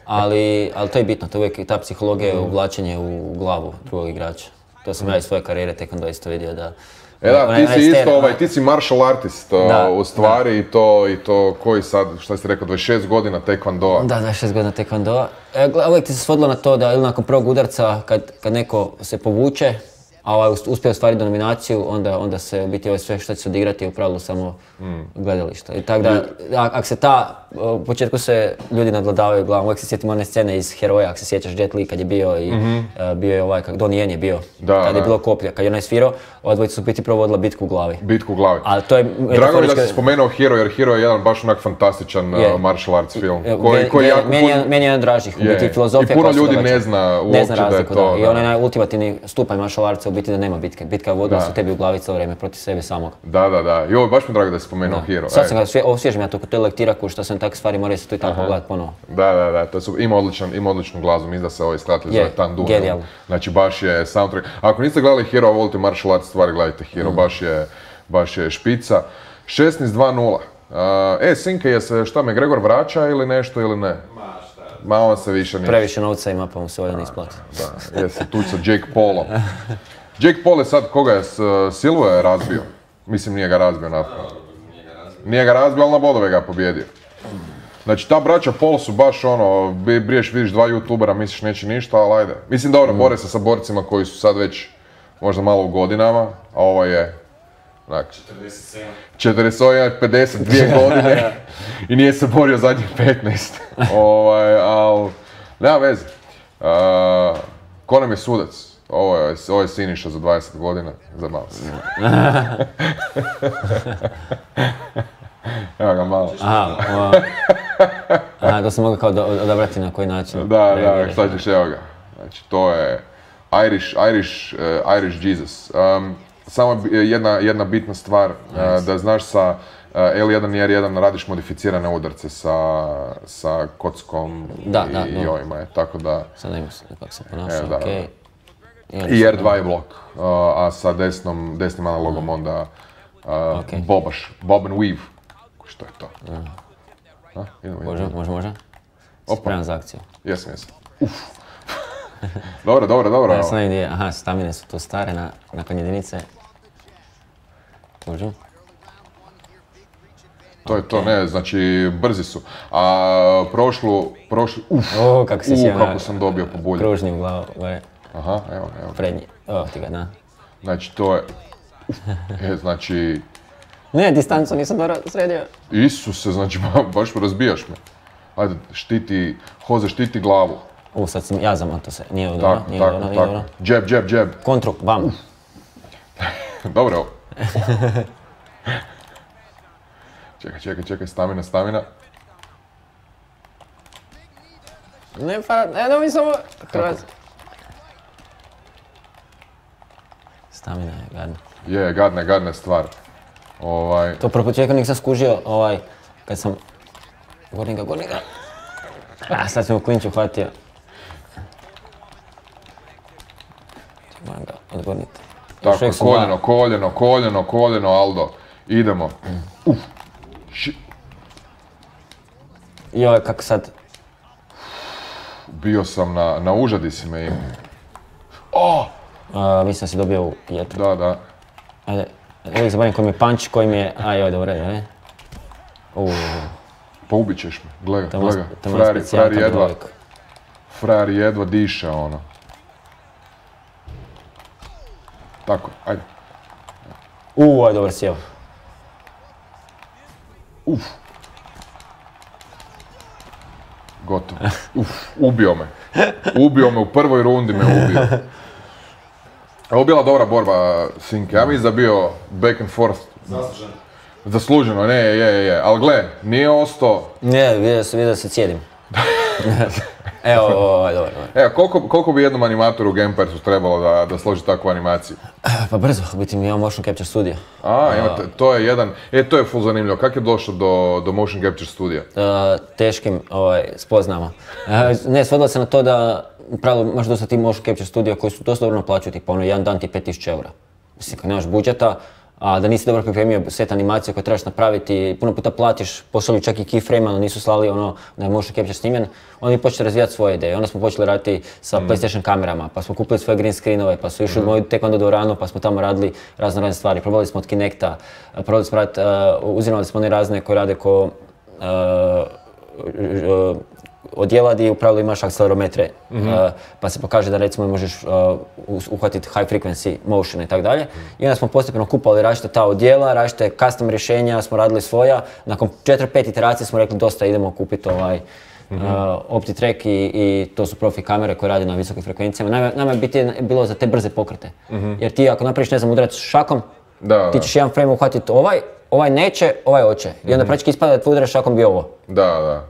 ali, ali to je bitno, to je uvijek ta psihologija, mm. uvlačenje u glavu drugog igrača. To sam mm. ja iz svoje karijere tek onda isto vidio da... E da, ti si isto, ovaj, ti si martial artist da, u stvari da. i to, i to koji sad, šta si rekao, dvadeset šest godina taekwondoa. Da, dvadeset šest godina taekwondoa. E, uvijek ti se svodilo na to da ili nakon prvog udarca, kad, kad neko se povuče, a ovaj uspije ostvariti nominaciju, onda, onda se u biti ovo sve što će se odigrati je u pravilu samo mm. gledalište. I tako da, ako se ta, u početku se ljudi nadgledavaju glavom, uvijek se sjetim one scene iz Heroja, ako se sjećaš Jet Li kad je bio i mm-hmm. uh, bio je ovaj, kak Donnie Yen je bio, da, kad da. je bilo koplja, kad je onaj svirao, ova dvojica su u biti provodila bitku u glavi. Bitku u glavi. Ali to je Drago mi da si spomenuo Hero, jer Hero je jedan baš onak fantastičan uh, martial arts film. Koji, koji jako meni, je, meni je jedan dražih, u biti filozofija. I puno ljudi ne zna uopće da je to. I onaj ultimativni stupanj martial artsa u biti da nema bitke. Bitka je vodila se tebi u glavi cijelo vrijeme protiv sebe samog. Da, da, da. I ovo baš mi drago da si spomenuo Hero. Sad sam ga svje, osvježim ja to kod te lektiraku što sam takve stvari morao se tu i tako gledati ponovo. Da, da, da. To su, ima, odličan, ima odličnu glazbu, mislim da se ovaj skratili zove Tandu. Genijalno. Znači baš je soundtrack. Ako niste gledali Hero, a volite martial arts stvari, gledajte Hero, mm. baš, je, baš je špica. šesnaest dva nula. Uh, e, Sinke, je se šta, McGregor vraća ili nešto ili ne? Ma šta? Ma on se više nije. Previše novca ima pa mu se ovdje ne isplati. Da, je se tu sa Jake Paulom. Jake Paul je sad, koga je, Silva je razbio? Mislim, nije ga razbio na... Nije ga razbio, ali na bodove ga pobjedio. Znači, ta braća Paul su baš ono, briješ, vidiš dva youtubera, misliš neće ništa, ali ajde. Mislim, dobro, bore se sa borcima koji su sad već možda malo u godinama, a ovo je... Znači, četrdeset sedam. četrdeset sedam, pedeset dvije godine i nije se borio zadnjih petnaest. ovaj, ali, nema veze. Uh, ko nam je sudac? ovo je, ovo je Siniša za dvadeset godina, zabav se. Evo ga malo. Aha, o, aha, to sam mogao kao do, odabrati na koji način. Da, da, šta ćeš, evo ga. Znači, to je Irish, Irish, uh, Irish Jesus. Um, samo jedna, jedna bitna stvar, uh, da znaš sa uh, L jedan i R jedan radiš modificirane udarce sa, sa kockom da, i, da, i ovima je, tako da... Sad ne mislim kako se ponaša, e, okej. Okay. I R dva je blok, uh, a sa desnom, desnim analogom onda uh, okay. bobaš, bob and weave. Što je to? A, idemo, može, može, može. Spreman za akciju. Jesam, jesam. Uf. Dobro, dobro, dobro. Ja sam ne vidio, aha, stamine su tu stare na, nakon jedinice. Može. To je to, ne, znači brzi su. A prošlu, prošlu, uf, o, kako si uh, kako sam dobio po bulju. Kružni u glavu, gore. Aha, evo, evo. Prednji, evo ti ga, da. Znači to je, e, znači... Ne, distancu nisam dobro sredio. Isuse, znači baš razbijaš me. Ajde, štiti, Hoze štiti glavu. U, sad sam ja zamoto se, nije ovo dobro, nije ovo dobro, nije dobro. Jab, jab, jab. Kontru, bam. Dobro ovo. Čekaj, čekaj, čekaj, stamina, stamina. Ne, pa, ne, ne, mi samo... Hrvatski. Stamina je gadna. Je, gadna je, gadna je stvar. Ovaj... To prvo početka nisam skužio, ovaj, kad sam... Gornika, gornika. A, sad sam u klinču hvatio. Moram ga odgorniti. Tako, koljeno, koljeno, koljeno, koljeno, Aldo. Idemo. Uf. Joj, kako sad... Bio sam na, na užadi si me imao. Oh! Uh, mislim da si dobio u jetru. Da, da. Ajde, uvijek zaboravim koji mi je punch, koji mi je... A joj, dobro, ajde. Uuu. Pa ubit ćeš me, gledaj, gledaj. Frajer, frajer jedva, frajer jedva diše, ono. Tako, ajde. Uuu, ajde, dobro, sjeo. Uf. Gotovo. Uf, ubio me. Ubio me, u prvoj rundi me ubio. Ovo bila dobra borba, Sinke. Ja mislim da bio back and forth. Zasluženo. Zasluženo, ne, je, je, je. Ali gle, nije ostao... Ne, vidio se, vidio se cijedim. Evo, ovo je dobro. Evo, koliko, koliko bi jednom animatoru u Gamepersu trebalo da, da složi takvu animaciju? Pa brzo, u biti mi imamo Motion Capture Studio. A, imate, to je jedan, e, to je full zanimljivo. Kako je došlo do, do Motion Capture Studija? Uh, teškim ovaj, spoznama. Uh, ne, svodilo se na to da, u pravilu, imaš dosta ti Motion Capture Studija koji su dosta dobro naplaćuju, tipa ono, jedan dan ti pet tisuća eura. Mislim, kad nemaš budžeta, a da nisi dobro pripremio set animacije koje trebaš napraviti, puno puta platiš, poslali čak i keyframe, ali nisu slali ono da je motion capture snimljen, onda mi počeli razvijati svoje ideje. Onda smo počeli raditi sa mm. PlayStation kamerama, pa smo kupili svoje green screenove, pa su išli mm. moju tek onda do rano, pa smo tamo radili razne razne stvari. Probali smo od Kinecta, probali smo raditi, uh, uzimali smo one razne koje rade ko uh, uh, odjela gdje u pravilu imaš akcelerometre, mm-hmm. uh, pa se pokaže da recimo možeš uh, uhvatiti high frequency motion i tako dalje. I onda smo postepeno kupali različite ta odjela, različite custom rješenja, smo radili svoja. Nakon četiri pet iteracija smo rekli dosta idemo kupiti ovaj mm-hmm. uh, OptiTrack i, i to su profi kamere koje rade na visokim frekvencijama. Nama, nama je biti bilo za te brze pokrete. Mm-hmm. Jer ti ako napraviš ne znam udarac šakom, da, ti ćeš jedan frame uhvatiti ovaj, ovaj neće, ovaj hoće. I onda mm-hmm. praktički ispada da tvoj udarac šakom bi ovo. Da, da.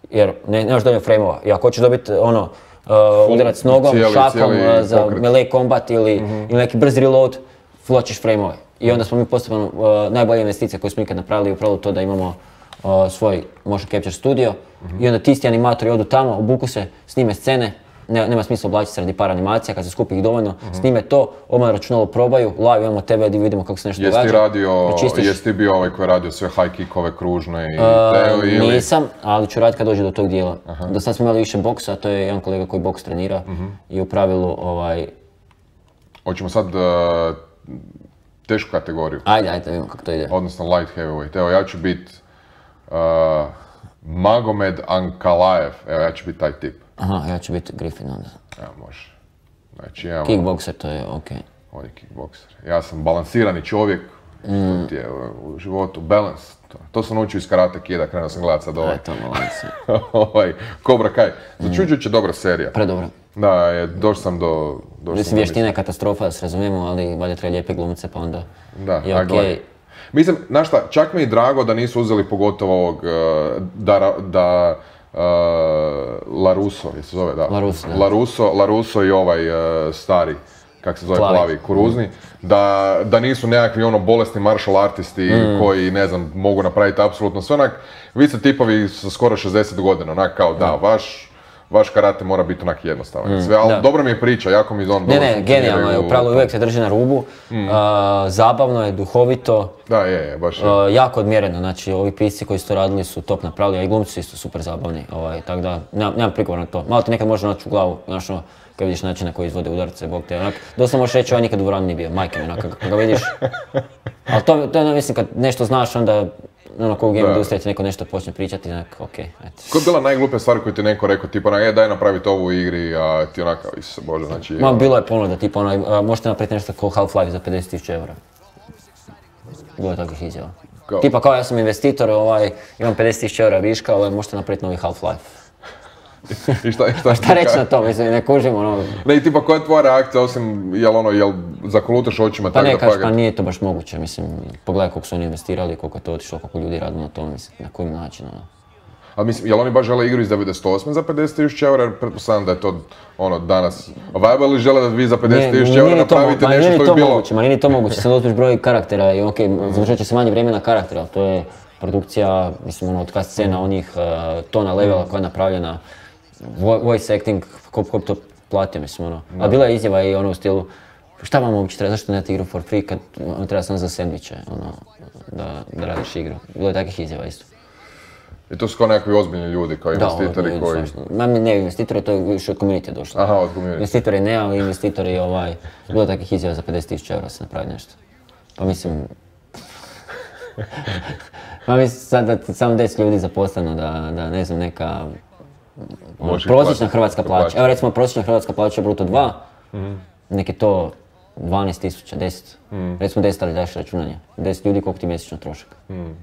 Jer ne, nemaš dovoljno frame-ova. I ako hoćeš dobiti ono, uh, udarac nogom, cijeli, šakom cijeli uh, za pokret. melee combat ili, Mm-hmm. ili neki brzi reload, fločiš frame-ove. I onda smo mi postupno uh, najbolje investicije koje smo ikad napravili upravo to da imamo uh, svoj motion capture studio. Mm-hmm. I onda ti isti animatori odu tamo, obuku se, snime scene. Ne, nema smisla oblačiti se radi par animacija, kad se skupi ih dovoljno, mm-hmm. snime to, odmah na računalu probaju, live imamo tebe gdje vidimo kako se nešto događa. Jesi ti radio, jesi ti bio ovaj koji je radio sve high kickove kružne i teo uh, ili? Nisam, ali ću raditi kad dođe do tog dijela. Aha. Do sad smo imali više boksa, to je jedan kolega koji boks trenira mm-hmm. i u pravilu ovaj... Hoćemo sad uh, tešku kategoriju. Ajde, ajde, vidimo kako to ide. Odnosno light heavyweight. Evo ja ću biti uh, Magomed Ankalaev, evo ja ću biti taj tip. Aha, ja ću biti Griffin onda. Evo, može. Znači, imamo... Kickbokser, to je okej. Okay. On je kickbokser. Ja sam balansirani čovjek, mm. što ti je u životu, balance. To, to sam naučio iz Karate Kida, krenuo sam gledat sad ovaj. Aj, to ovaj, Cobra Kai. Začuđujuće dobra serija. Predobra. Da, je, došao sam do, Mislim, vještina je katastrofa, da se razumijemo, ali valjda treba lijepe glumce, pa onda da, je okej. Okay. Mislim, znaš šta, čak mi je drago da nisu uzeli pogotovo ovog, da, da uh, Larusso, je se zove, da? Larusso, da. Larusso, Larusso i ovaj uh, stari, kak se zove, plavi, plavi Kuruzni, mm. da, da nisu nekakvi ono bolesni martial artisti mm. koji, ne znam, mogu napraviti apsolutno sve, onak, vi ste tipovi sa skoro šezdeset godina, onak kao da, mm. vaš vaš karate mora biti onak jednostavan. Sve, ali dobro mi je priča, jako mi on... Ne, ne, genijalno je, upravo uvijek se drži na rubu, mm. uh, zabavno je, duhovito, da, je, je, baš je. Uh, jako odmjereno, znači ovi pisci koji su to radili su top napravili, a i glumci su isto super zabavni, ovaj, tako da nemam, nemam prigovor na to. Malo ti nekad može naći u glavu, znaš ono, kad vidiš način na koji izvode udarce, bog te, onak, dosta možeš reći ovaj nikad u dvorani nije bio, majke mi, onak, kad ga vidiš. Ali to, to je, mislim, kad nešto znaš, onda ono, ko u game industriji ti neko nešto počne pričati, onak, okej, okay, eto. Koja je bila najgluplja stvar koju ti neko rekao, tipa, onak, e, daj napraviti ovu u igri, a ti onaka, isuse Bože, znači... Ma, bilo je ponuda, tipa, onaj, možete napraviti nešto kao Half-Life za pedeset tisuća eura. Bilo je takvih izjava. Kao? Tipa, kao ja sam investitor, ovaj, imam pedeset tisuća eura viška, ovaj, možete napraviti novi Half-Life. I šta, šta, šta reći na to, mislim, ne kužim ono... Ne, i tipa, koja je tvoja reakcija, osim, jel ono, jel zakolutaš očima pa tako ne, da pagat? Pa nije to baš moguće, mislim, pogledaj koliko su oni investirali, koliko je to otišlo, koliko ljudi radilo na tom, mislim, na kojim način, ono. A mislim, jel oni baš žele igru iz devedeset osme za pedeset tisuća eura, jer pretpostavljam da je to, ono, danas viable ili žele da vi za pedeset tisuća eura napravite mo- nešto što je bilo... Moguće, ma nije ni to moguće, sad otpiš broj karaktera i okej, okay, završat će se manje vremena karaktera, ali to je produkcija, mislim, ono, od kad scena onih uh, tona levela koja je napravljena, voice acting, ko bi to platio, mislim, ono. A bila je izjava i ono u stilu, šta vam uopće treba, zašto ne dati igru for free kad on treba samo za sendviče, ono, da, da radiš igru. Bilo je takvih izjava isto. I to su kao nekakvi ozbiljni ljudi, kao investitori da, koji... Ma ne investitori, to je više od community došlo. Aha, od community. Investitori ne, ali investitori, ovaj, bilo je takvih izjava za pedeset tisuća eura se napravi nešto. Pa mislim... Pa mislim sad da samo deset ljudi zaposleno, da, da ne znam, neka... Ono, prosječna hrvatska plaća. Evo recimo prosječna hrvatska plaća je bruto dva, mm-hmm. nek je to dvanaest tisuća, deset. Mm. Recimo deset, ali daš računanje. deset ljudi koliko ti mjesečno trošak. Mm. Mm.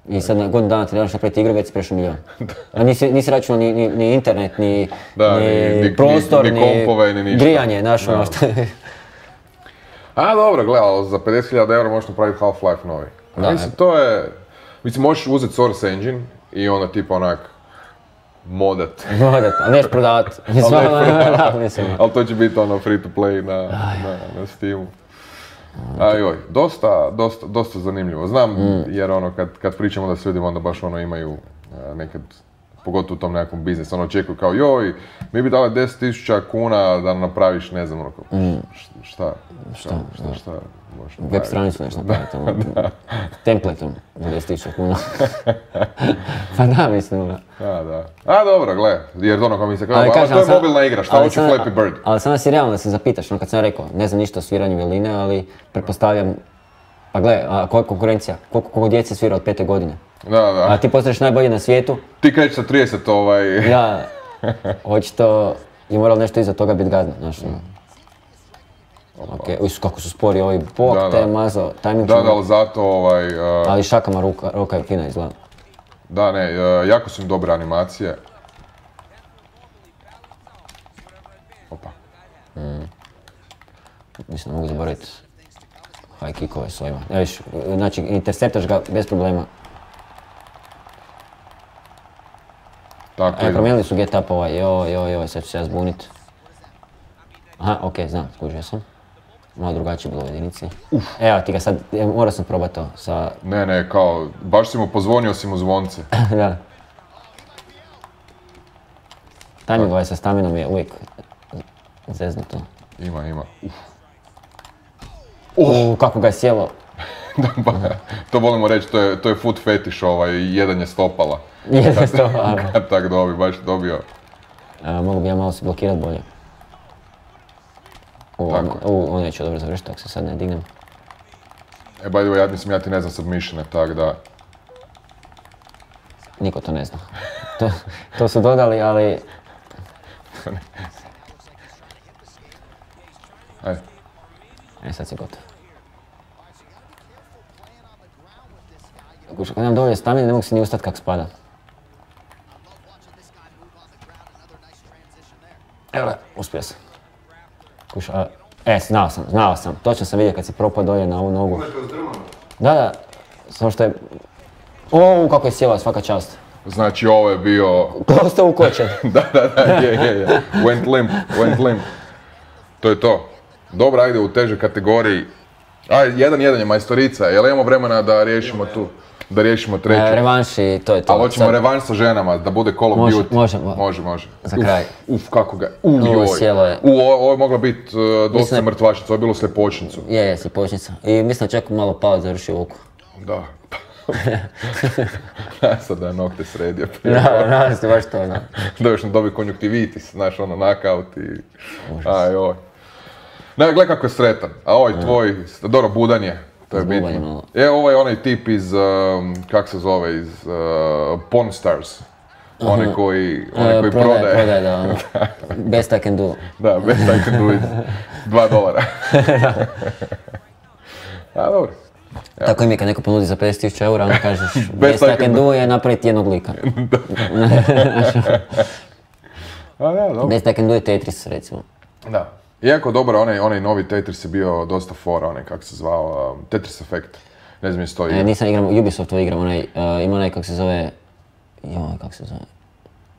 I sad na godinu dana ti daš napraviti igru, već si prešao milijon. A nisi, nisi računao ni, ni, ni internet, ni, da, ni, ni, ni prostor, ni, ni kompove, ni ništa. Grijanje, znaš ono što je. A dobro, gledaj, ali za pedeset hiljada eura možeš napraviti Half-Life novi. Da, mislim, to je... Mislim, možeš uzeti Source Engine i onda tipa onak... modat. Modat, ali neš prodavat. Ali to će biti ono free to play na, na, na Steamu. Ajoj, dosta, dosta, dosta zanimljivo. Znam, mm. jer ono, kad, kad pričamo da s ljudima, onda baš ono imaju nekad, pogotovo u tom nekakvom biznisu, ono očekuju kao joj, mi bi dali deset tisuća kuna da napraviš, ne znam, ono, mm. šta, šta, šta, šta, šta možeš napraviti. Web stranicu nešto napraviti, ono, templateom za deset tisuća kuna. Pa da, mislim, da. Da, da. A dobro, gle, jer ono kao mi se kao, ali to je sam, mobilna igra, šta hoće Flappy Bird? Ali sam nas i realno da se zapitaš, ono kad sam rekao, ne znam ništa o sviranju violine, ali pretpostavljam, pa gle, a koja je konkurencija, koliko, koliko djece svira od pete godine? Da, da. A ti postaneš najbolji na svijetu? Ti krećeš sa trideset, ovaj... Ja, očito je moralo nešto iza toga biti gadno, znaš, ono. Okej, okay. Kako su spori ovi, bok da, te mazo, tajming da, da, ali zato ovaj... Uh... Ali šakama ruka, ruka je fina izgleda. Da, ne, uh, jako su im dobre animacije. Opa. Mm. Mislim da mogu zaboraviti high kickove s ovima. Ja viš, znači interceptaš ga bez problema. Tako e, promijenili su get up ovaj, joj, joj, joj, sad ću se ja zbunit. Aha, okej, okay, znam, skužio sam. Malo drugačije bilo u jedinici. Uf. Evo ti ga sad, morao sam probati to sa... Ne, ne, kao, baš si mu pozvonio si mu zvonce. Da. Timing ovaj sa staminom je uvijek zeznuto. Ima, ima. Uf. Uh, kako ga je sjelo. To volimo reći, to je, to je foot fetish, ovaj, jedan je stopala. Jedan je stopala. Kad tak dobi, baš dobio. A, mogu bi ja malo se blokirat bolje. U, on, u, on neće dobro završiti, ako se sad ne dignem. E, by the way, ja mislim, ja ti ne znam submissione, tak da... Niko to ne zna. To, to su dodali, ali... Ajde. E, sad si gotov. Kad nemam dovoljno stamine, ne mogu se ni ustati kak spada. Evo ga, uspio sam. Kuša, a, e, znao sam, znao sam. Točno sam vidio kad se propao dolje na ovu nogu. Da, da. Samo što je... O, kako je sjela, svaka čast. Znači ovo je bio... Ostao ukočen. da, da, da, je, je, je. Went limp, went limp. To je to. Dobro, ajde u težoj kategoriji. Aj, jedan jedan je majstorica, jel imamo vremena da riješimo tu? Da riješimo treću. E, revanš i to je to. Ali hoćemo Sad... revanš sa ženama, da bude Call of može, Duty. Može, može. Može, Za kraj. Uf, uf kako ga... Uf, joj. Sjelo je. U, ovo je mogla biti uh, dosta mislim... mrtvačica, ovo je bilo sljepočnicu. Je, je, sljepočnica. I mislim da čak malo pao završio oko. Da. Sad da je nokte sredio prije. Da, nadam se baš to, da. Da još ne dobi konjuktivitis, znaš, ono, knockout i... Aj, oj. Ne, gledaj kako je sretan. A ovaj tvoj, dobro, budan je. To je bitno. E, ovo je onaj tip iz, um, kak se zove, iz uh, Pawn Stars. Onaj koji, onaj koji prodaje. Prodaje, prodaje, da, ono. Best I can do. Da, best I can do it. Dva dolara. A, dobro. Ja. Tako i mi kad neko ponudi za pedeset tisuća eura, onda kažeš best, best I can do je napraviti jednog lika. A, da, dobro. Best I can do je Tetris, recimo. Da. Iako dobro, onaj, onaj novi Tetris je bio dosta fora, onaj kak se zvao, um, Tetris Effect. Ne znam isto igra. E, nisam igram, Ubisoftu igram, onaj, uh, ima onaj kak se zove, joj, kak se zove,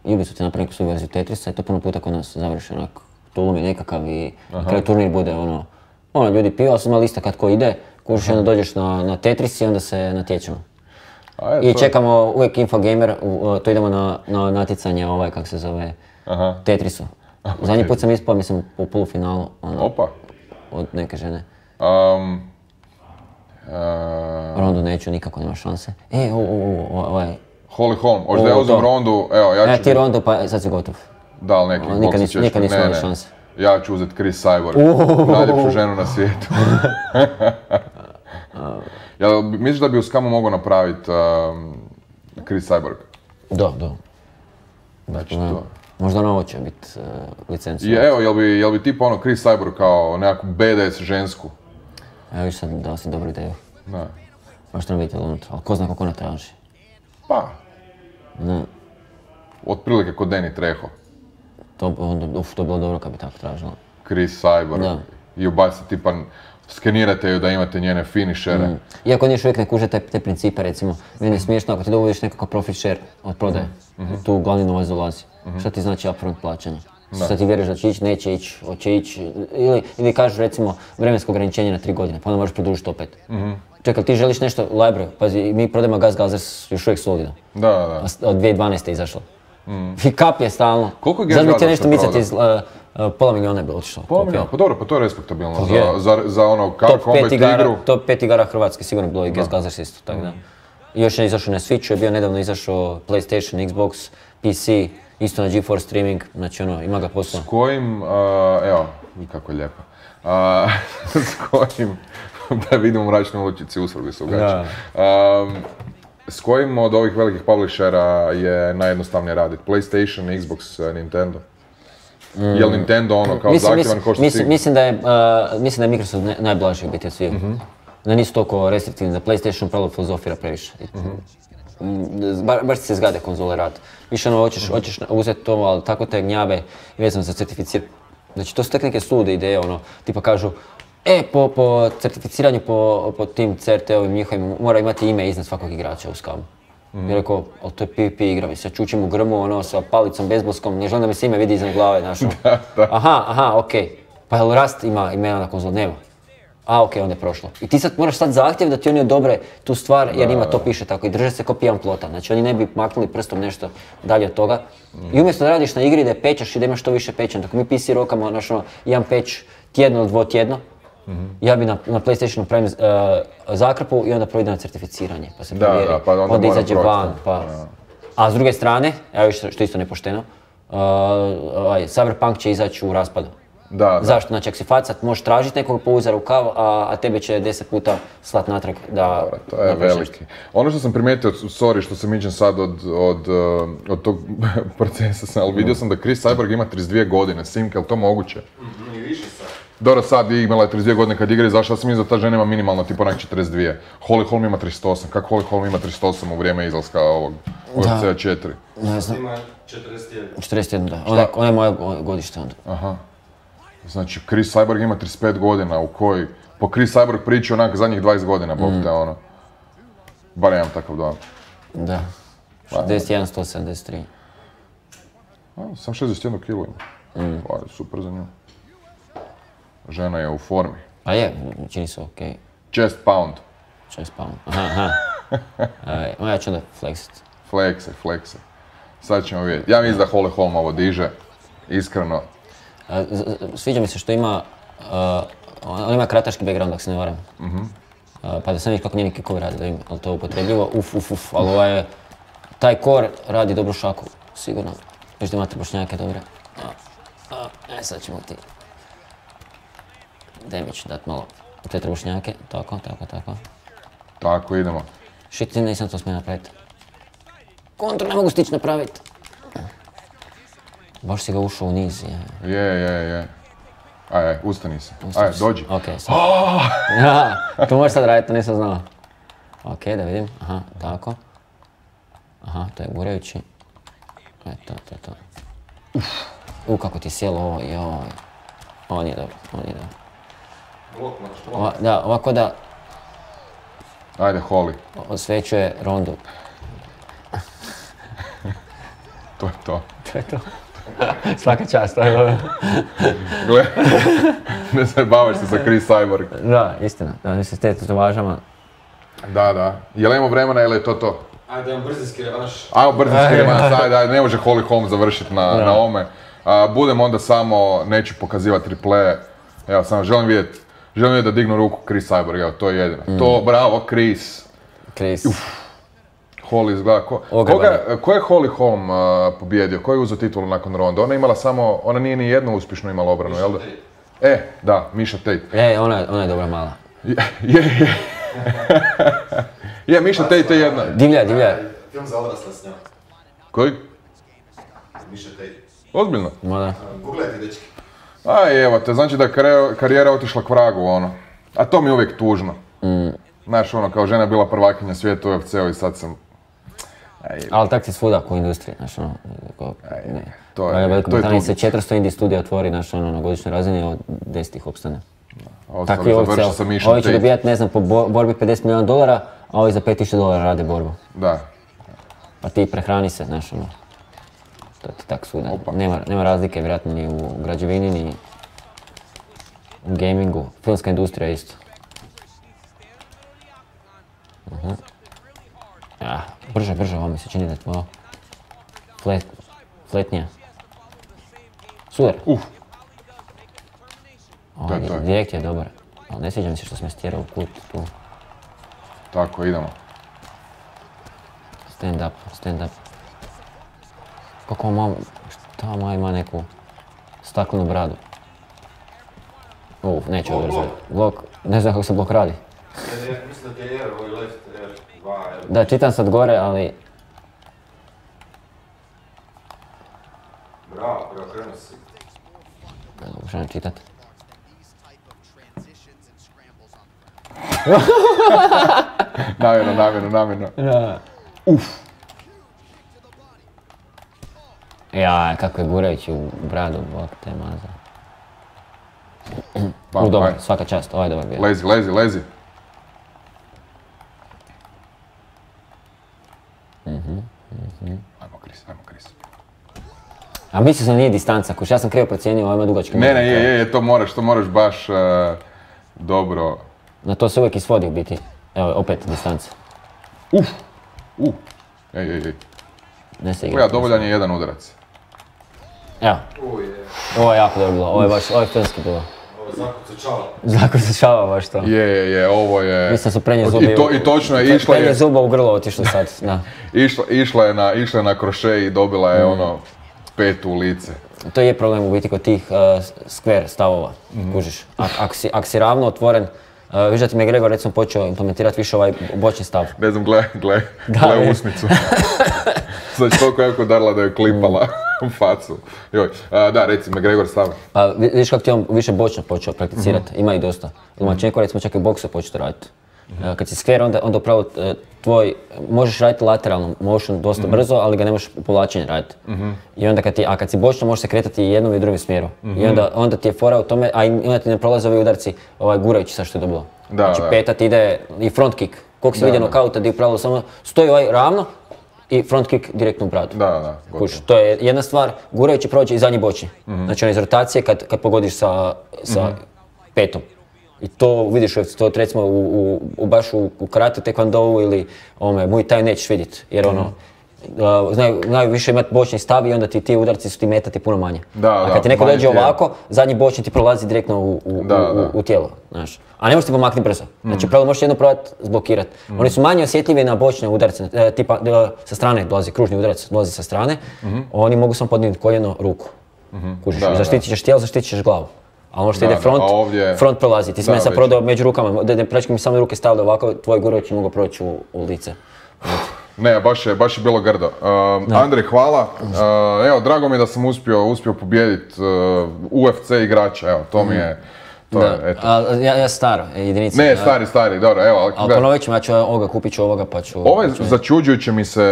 Ubisoft je napravio neku svoju verziju Tetrisa i to puno puta kod nas završi onak, tulum je nekakav i na kraju turnir bude ono, ono ljudi piju, ali sam ima lista kad ko ide, kužiš i onda dođeš na, na Tetris i onda se natječemo. A, je, I čekamo je... uvijek Infogamer, uh, to idemo na, na natjecanje ovaj, kak se zove, Aha. Tetrisu. Okay. Zadnji put sam ispao, mislim, u polufinalu, ono, Opa. od neke žene. Um, uh... Rondu neću, nikako nema šanse. E, o, o, o, ovaj... Holly Holm, hoćeš da ja uzem Rondu, evo, ja ću... E, ti Rondu, pa sad si gotov. Da, ali neki nikad boksu ćeš... Nikad nisu imali šanse. Ja ću uzeti Chris Cyborg, najljepšu ženu na svijetu. Jel misliš da bi u Skamu mogao napraviti um, Chris Cyborg? Da, da. Znači to. Možda ono ovo će biti uh, licencu. Je, evo, jel bi, jel bi tipa ono Chris Cyborg kao nekakvu B D S žensku? Evo viš sad dao si dobru ideju. Da. Možda nam vidjeti unutra, ali ko zna kako ona traži. Pa. Ne. Otprilike kod Danny Trejo. To, onda, uf, to je bilo dobro kad bi tako tražila. Chris Cyborg. Da. I ubacite tipa, skenirate ju da imate njene finishere. Mm. Iako oni još uvijek ne kuže te, te principe, recimo. Meni je smiješno ako ti dovodiš nekakav profit share od prodaje. Mm-hmm. Tu glavni novac dolazi. Mm-hmm. Šta ti znači upfront plaćanje? Da. Šta ti vjeruješ da će ići, neće ići, hoće ići. Ili, ili kažu recimo vremensko ograničenje na tri godine, pa onda možeš produžiti opet. Mm-hmm. Čekaj, ti želiš nešto library, pazi, mi prodajemo Gas Gazers još uvijek solidno. Da, da. Od dvije tisuće dvanaeste izašlo. Mm. I kap je stalno. Koliko je Gas Gazers Zato bi ti nešto micati iz... Uh, uh, pola milijuna je bilo otišlo. Pola milijuna? Pa dobro, pa to je respektabilno. Pa za, za, za ono combat igru. Top pet igara Hrvatske sigurno bilo i Gas Gazers isto, tako da. I još je izašao na Switchu, je bio nedavno izašao PlayStation, Xbox, P C, isto na GeForce streaming, znači ono, ima ga posla. S kojim, uh, evo, kako je lijepo, uh, s kojim, da vidimo u mračnoj uličici usvrgli su gače. Um, s kojim od ovih velikih publishera je najjednostavnije raditi? PlayStation, Xbox, Nintendo? Mm. Je li Nintendo ono kao mislim, zahtjevan ko što mislim, si... Mislim da je, uh, mislim da je Microsoft ne, najblaži biti od svih. Mm-hmm. Da nisu toliko restriktivni, da PlayStation pravo filozofira previše. Mm-hmm. Ba, baš ti se zgade konzole rad. Više ono, hoćeš, mm-hmm. hoćeš uzeti to, ali tako te gnjave i vezano za certificiranje. Znači, to su tek neke sulude ideje, ono, tipa kažu, e, po, po certificiranju po, po tim C R T-ovim njihovim mora imati ime iznad svakog igrača u Skamu. Mm-hmm. I rekao, ali to je PvP igra, mi se čučim u grmu, ono, sa palicom, bezboskom, ne želim da mi se ime vidi iznad glave, znaš. Aha, aha, okej. Okay. Pa jel Rust ima imena na konzoli? Nema. A, okej, okay, onda je prošlo. I ti sad moraš sad zahtjev da ti oni odobre tu stvar jer ima to piše tako i drže se ko pijan plota. Znači oni ne bi maknuli prstom nešto dalje od toga. Mm. I umjesto da radiš na igri da je pečaš i da imaš što više pečen. Dok mi P C rokamo, znaš ono, jedan peć tjedno ili dvotjedno, mm-hmm. ja bi na, na PlayStationu pravim uh, zakrpu i onda proide na certificiranje. Pa se provjeri, da, pa onda, onda izađe van. Pa. Ja. A s druge strane, evo što, što isto nepošteno, uh, ovaj, Cyberpunk će izaći u raspadu. Da, da. Zašto? Znači, ako si facat, možeš tražiti nekog po uza rukav, a, a tebe će deset puta slat natrag da... Dobro, to je veliki. Ono što sam primijetio, sorry što sam iđen sad od, od, od tog procesa, ali vidio sam da Chris Cyborg ima trideset dvije godine, Simka, je li to moguće? Mm-hmm, i više sad. Dobro, sad imala je trideset dvije godine kad igra i zašto sam mislim da ta žena ima minimalno tipa onak četrdeset dvije. Holly Holm ima trideset osam, kako Holly Holm ima trideset osam u vrijeme izlaska ovog U F C četiri? Ne znam. Ima četrdeset jedan. četrdeset jedan, da. Ona, ona je moja godište onda. Aha. Znači, Chris Cyborg ima trideset pet godina, u koji po Chris Cyborg priči onak zadnjih dvadeset godina, bog te ono. Bar imam takav dojam. Da. šezdeset jedan sto sedamdeset tri. A, sam šezdeset jednu kilu ima. Mm. Pa, super za nju. Žena je u formi. Pa je, čini se okej. Okay. Chest pound. Chest pound, aha, aha. uh, ja ću onda flexit. Flexe, flexe. Sad ćemo vidjeti. Ja mislim da Holly Holm ovo diže, iskreno. Uh, sviđa mi se što ima, uh, on ima krataški background, ako se ne varam. Mm-hmm. Uh, pa da sam vidiš kako njeni kikovi radi, da im, ali to je upotrebljivo, uf, uf, uf, ali ovaj je, taj core radi dobru šaku, sigurno. Još da imate bošnjake dobre. A, a, e, sad ćemo ti damage dat malo u te trebušnjake, tako, tako, tako. Tako, idemo. Shit, nisam to smio napraviti. Kontru ne mogu stić napraviti. Baš si ga ušao u niz, je. Je, je, je. Aj, aj, ustani se. Aj, dođi. Okej, sad. Oh! Ja, to možeš sad raditi, to nisam znao. Okej, da vidim. Aha, tako. Aha, to je gurajući. Eto, to, to. Uf. U, kako ti je sjelo ovo, joj. Ovo nije dobro, ovo nije dobro. Blok moraš, Ova, da, ovako da ajde, Holly. osvećuje rondu. To je to. To je to. Svaka čast, to je dobro. Gle, ne zajebavaš se sa Chris Cyborg. Da, istina, da mi se s te tetovažama. Da, da. Je li imamo vremena ili je to to? Ajde, imam brzinski revanš. Ajmo brzinski revanš, ajde, ajde, ne može Holly Holm završiti na, na ome. A, budem onda samo, neću pokazivati triple. Evo, samo želim vidjeti, želim vidjeti da dignu ruku Chris Cyborg, evo, to je jedino. Mm. To, bravo, Chris. Chris. Uf. Holly izgleda ko... Koga, ko je Holly Holm uh, pobjedio? Ko je uzeo titulu nakon ronde? Ona je imala samo, ona nije ni jednu uspješno imala obranu, jel da? E, da, Miša Tate. E, ona, ona je dobra mala. Je, je, je. Je, Miša Tate je jedna. Divlja, divlja. Film za odrasle s njom. Koji? Miša Tate. Ozbiljno? Mada. Googlajte, dečki. Aj, evo te, znači da je karijera, karijera otišla k vragu, ono. A to mi je uvijek tužno. Mm. Znaš, ono, kao žena je bila prvakinja svijeta u U F C-u i sad sam... Aj, ali tak ti svuda u industriji, znaš, ono, ko, aj, ne. To je, Veliko to je Britaniji se tužno. četiristo indie studija otvori, znaš, ono, na godišnjoj razini, od deset ih opstane. Tako je završio sa Miša Ovi će Tate. dobijat, ne znam, po bo- borbi pedeset milijuna dolara, a ovi za pet tisuća dolara rade borbu. Da. Pa ti prehrani se, znaš, ono. To ti tak svuda. Nema, nema razlike, vjerojatno, ni u građevini, ni u gamingu. Filmska industrija isto. Uh-huh. Ja, brže, brže, ovo mi se čini da je tvoja flet, fletnija. Super. Uf. Ovaj, to je to. direkt je dobar. Ali ne sviđa mi se što sam stjerao u kut tu. Tako, idemo. Stand up, stand up. Kako mam, šta ma ima neku staklenu bradu. Uf, neću ovo razvoj. Blok, ne znam kako se blok radi. Mislim da ti je R, ovo je left, R, dva, R. Da, čitam sad gore, ali... Bravo, preokrenuo si. Ne mogu što čitat. Namjerno, namjerno, namjerno. Da. Uf. Ja, kako je gurajući u bradu, bok te maza. Bam, U, dobar, aj. svaka čast, ovaj je dobar bio. Lezi, lezi, lezi. Ajmo, Chris, ajmo, Chris. A mislio sam nije distanca, kuš, ja sam krivo procijenio, ovaj ima dugački. Ne, ne, je, je, je, to moraš, to moraš baš uh, dobro. Na to se uvijek isvodi u biti. Evo, opet distanca. Uf, uf. Ej, ej, ej. Ne se igra. Gleda, dovoljan je jedan udarac. Evo, Uj, je. ovo je jako dobro bilo, ovo je baš, ovo je filmski bilo. Ovo je zakucečala. Zakucečava baš to. Je, je, je, ovo je... Mislim su prenje zubi. I, to, I točno je, išla Prenje je, zuba u grlo otišlo sad, da. išla, išla je na, išla je na kroše i dobila je ono petu u lice. To je problem u biti kod tih uh, square stavova, kužiš. Ak, ak, si, ak si ravno otvoren, uh, viš da ti McGregor recimo počeo implementirati više ovaj bočni stav. Ne znam, gle, gle, Da, gle je. usnicu. Znači toliko jako darla da je klipala u facu. Joj, a, da, reci, McGregor stav. Pa vi- vidiš kako ti on više bočno počeo prakticirati, ima i dosta. Lomachenko recimo čak i bokse počeo raditi. Uh, kad si square, onda, onda upravo uh, tvoj, možeš raditi lateralno motion dosta Mhm. brzo, ali ga ne možeš povlačenje raditi. I onda kad ti, a kad si bočno, možeš se kretati i jednom i drugim smjeru. Mhm. I onda, onda ti je fora u tome, a i onda ti ne prolaze ovi udarci ovaj, gurajući sa što je dobro. Da, Znači da. peta ti ide i front kick. Koliko si Da, vidio da. nokauta gdje upravo samo stoji ovaj ravno i front kick direktno u bradu. Da, da, gotovo. Kuš, to je jedna stvar, gurajući prođe i zadnji bočni. Znači on iz rotacije kad, kad pogodiš sa, sa petom. I to vidiš, to recimo u, u, u baš u, u karate, tekvandou ili ome, Muay Thai nećeš vidjeti, jer ono, uh, znaju, znaju više imati bočni stav i onda ti ti udarci su ti metati puno manje. Da, A da, kad ti neko manje dođe tijelo. ovako, zadnji bočni ti prolazi direktno u, u, Da, u, da. u tijelo, znaš. A ne možeš ti pomaknuti brzo. Znači, pravo možeš jedno probati zblokirati. Oni su manje osjetljivi na bočne udarce, e, tipa e, sa strane dolazi kružni udarac, dolazi sa strane. Oni mogu samo podignuti koljeno, ruku. Kužiš, Da, i zaštitit ćeš tijelo, zaštitit ćeš glavu. A ono što Da, ide da, front, a ovdje- front prolazi. Ti si Da, meni sad već. prodao među rukama, da ne prečki mi samo ruke stavili ovako, tvoj gurović mogao proći u, u lice. Ne, baš je, baš je bilo grdo. Um, Andrej, hvala. Uh, evo, drago mi je da sam uspio, uspio pobijediti uh, U F C igrača, evo, to mi je, to Da, je, eto. a, ja, ja staro, jedinice. Ne, stari, stari, dobro, evo, ali Ali gledaj. ponovit ću, ja ću ovoga, kupit ću ovoga pa ću... Ovo je pa ću- začuđujuće mi se,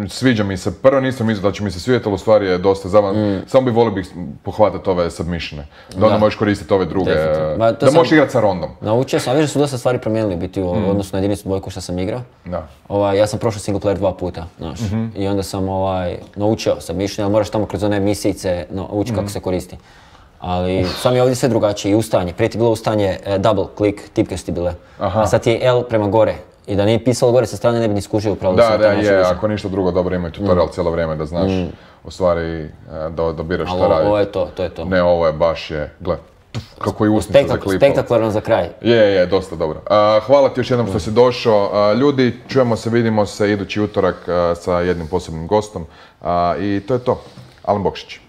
sviđa mi se, prvo nisam mislio da će mi se svidjeti, ali u stvari je dosta zabavan. Samo bi volio bih pohvatati ove submissione, da onda Da. možeš koristiti ove druge, Definitivno. Ma, to da sam- možeš igrati sa rondom. Naučio sam, a vidiš da su dosta stvari promijenili biti u odnosu na jedinicu dvojku što sam igrao. Da. Ovaj, ja sam prošao single player dva puta, znaš. I onda sam ovaj, naučio sam mišljenje, ali moraš tamo kroz one misijice naučiti kako se koristi. Ali sam je ovdje sve drugačije i ustaanje. Prije ti je bilo ustaanje e, double click, tipke su ti bile. Aha. A sad ti je L prema gore. I da nije pisalo gore sa strane ne bi ni skužio upravo Da, sam da, to našao je, više. ako ništa drugo, dobro imaju tutorial cijelo vrijeme da znaš u stvari e, da, da biraš Ali šta ovo, raditi. ovo je to, to je to. Ne, ovo je baš je, gle, kako je usnica Spektak, zaklipala. spektakularno za kraj. Je, je, dosta dobro. A, hvala ti još jednom što si došao. A, ljudi, čujemo se, vidimo se idući utorak a, sa jednim posebnim gostom. A, I to je to. Alen Bokšić.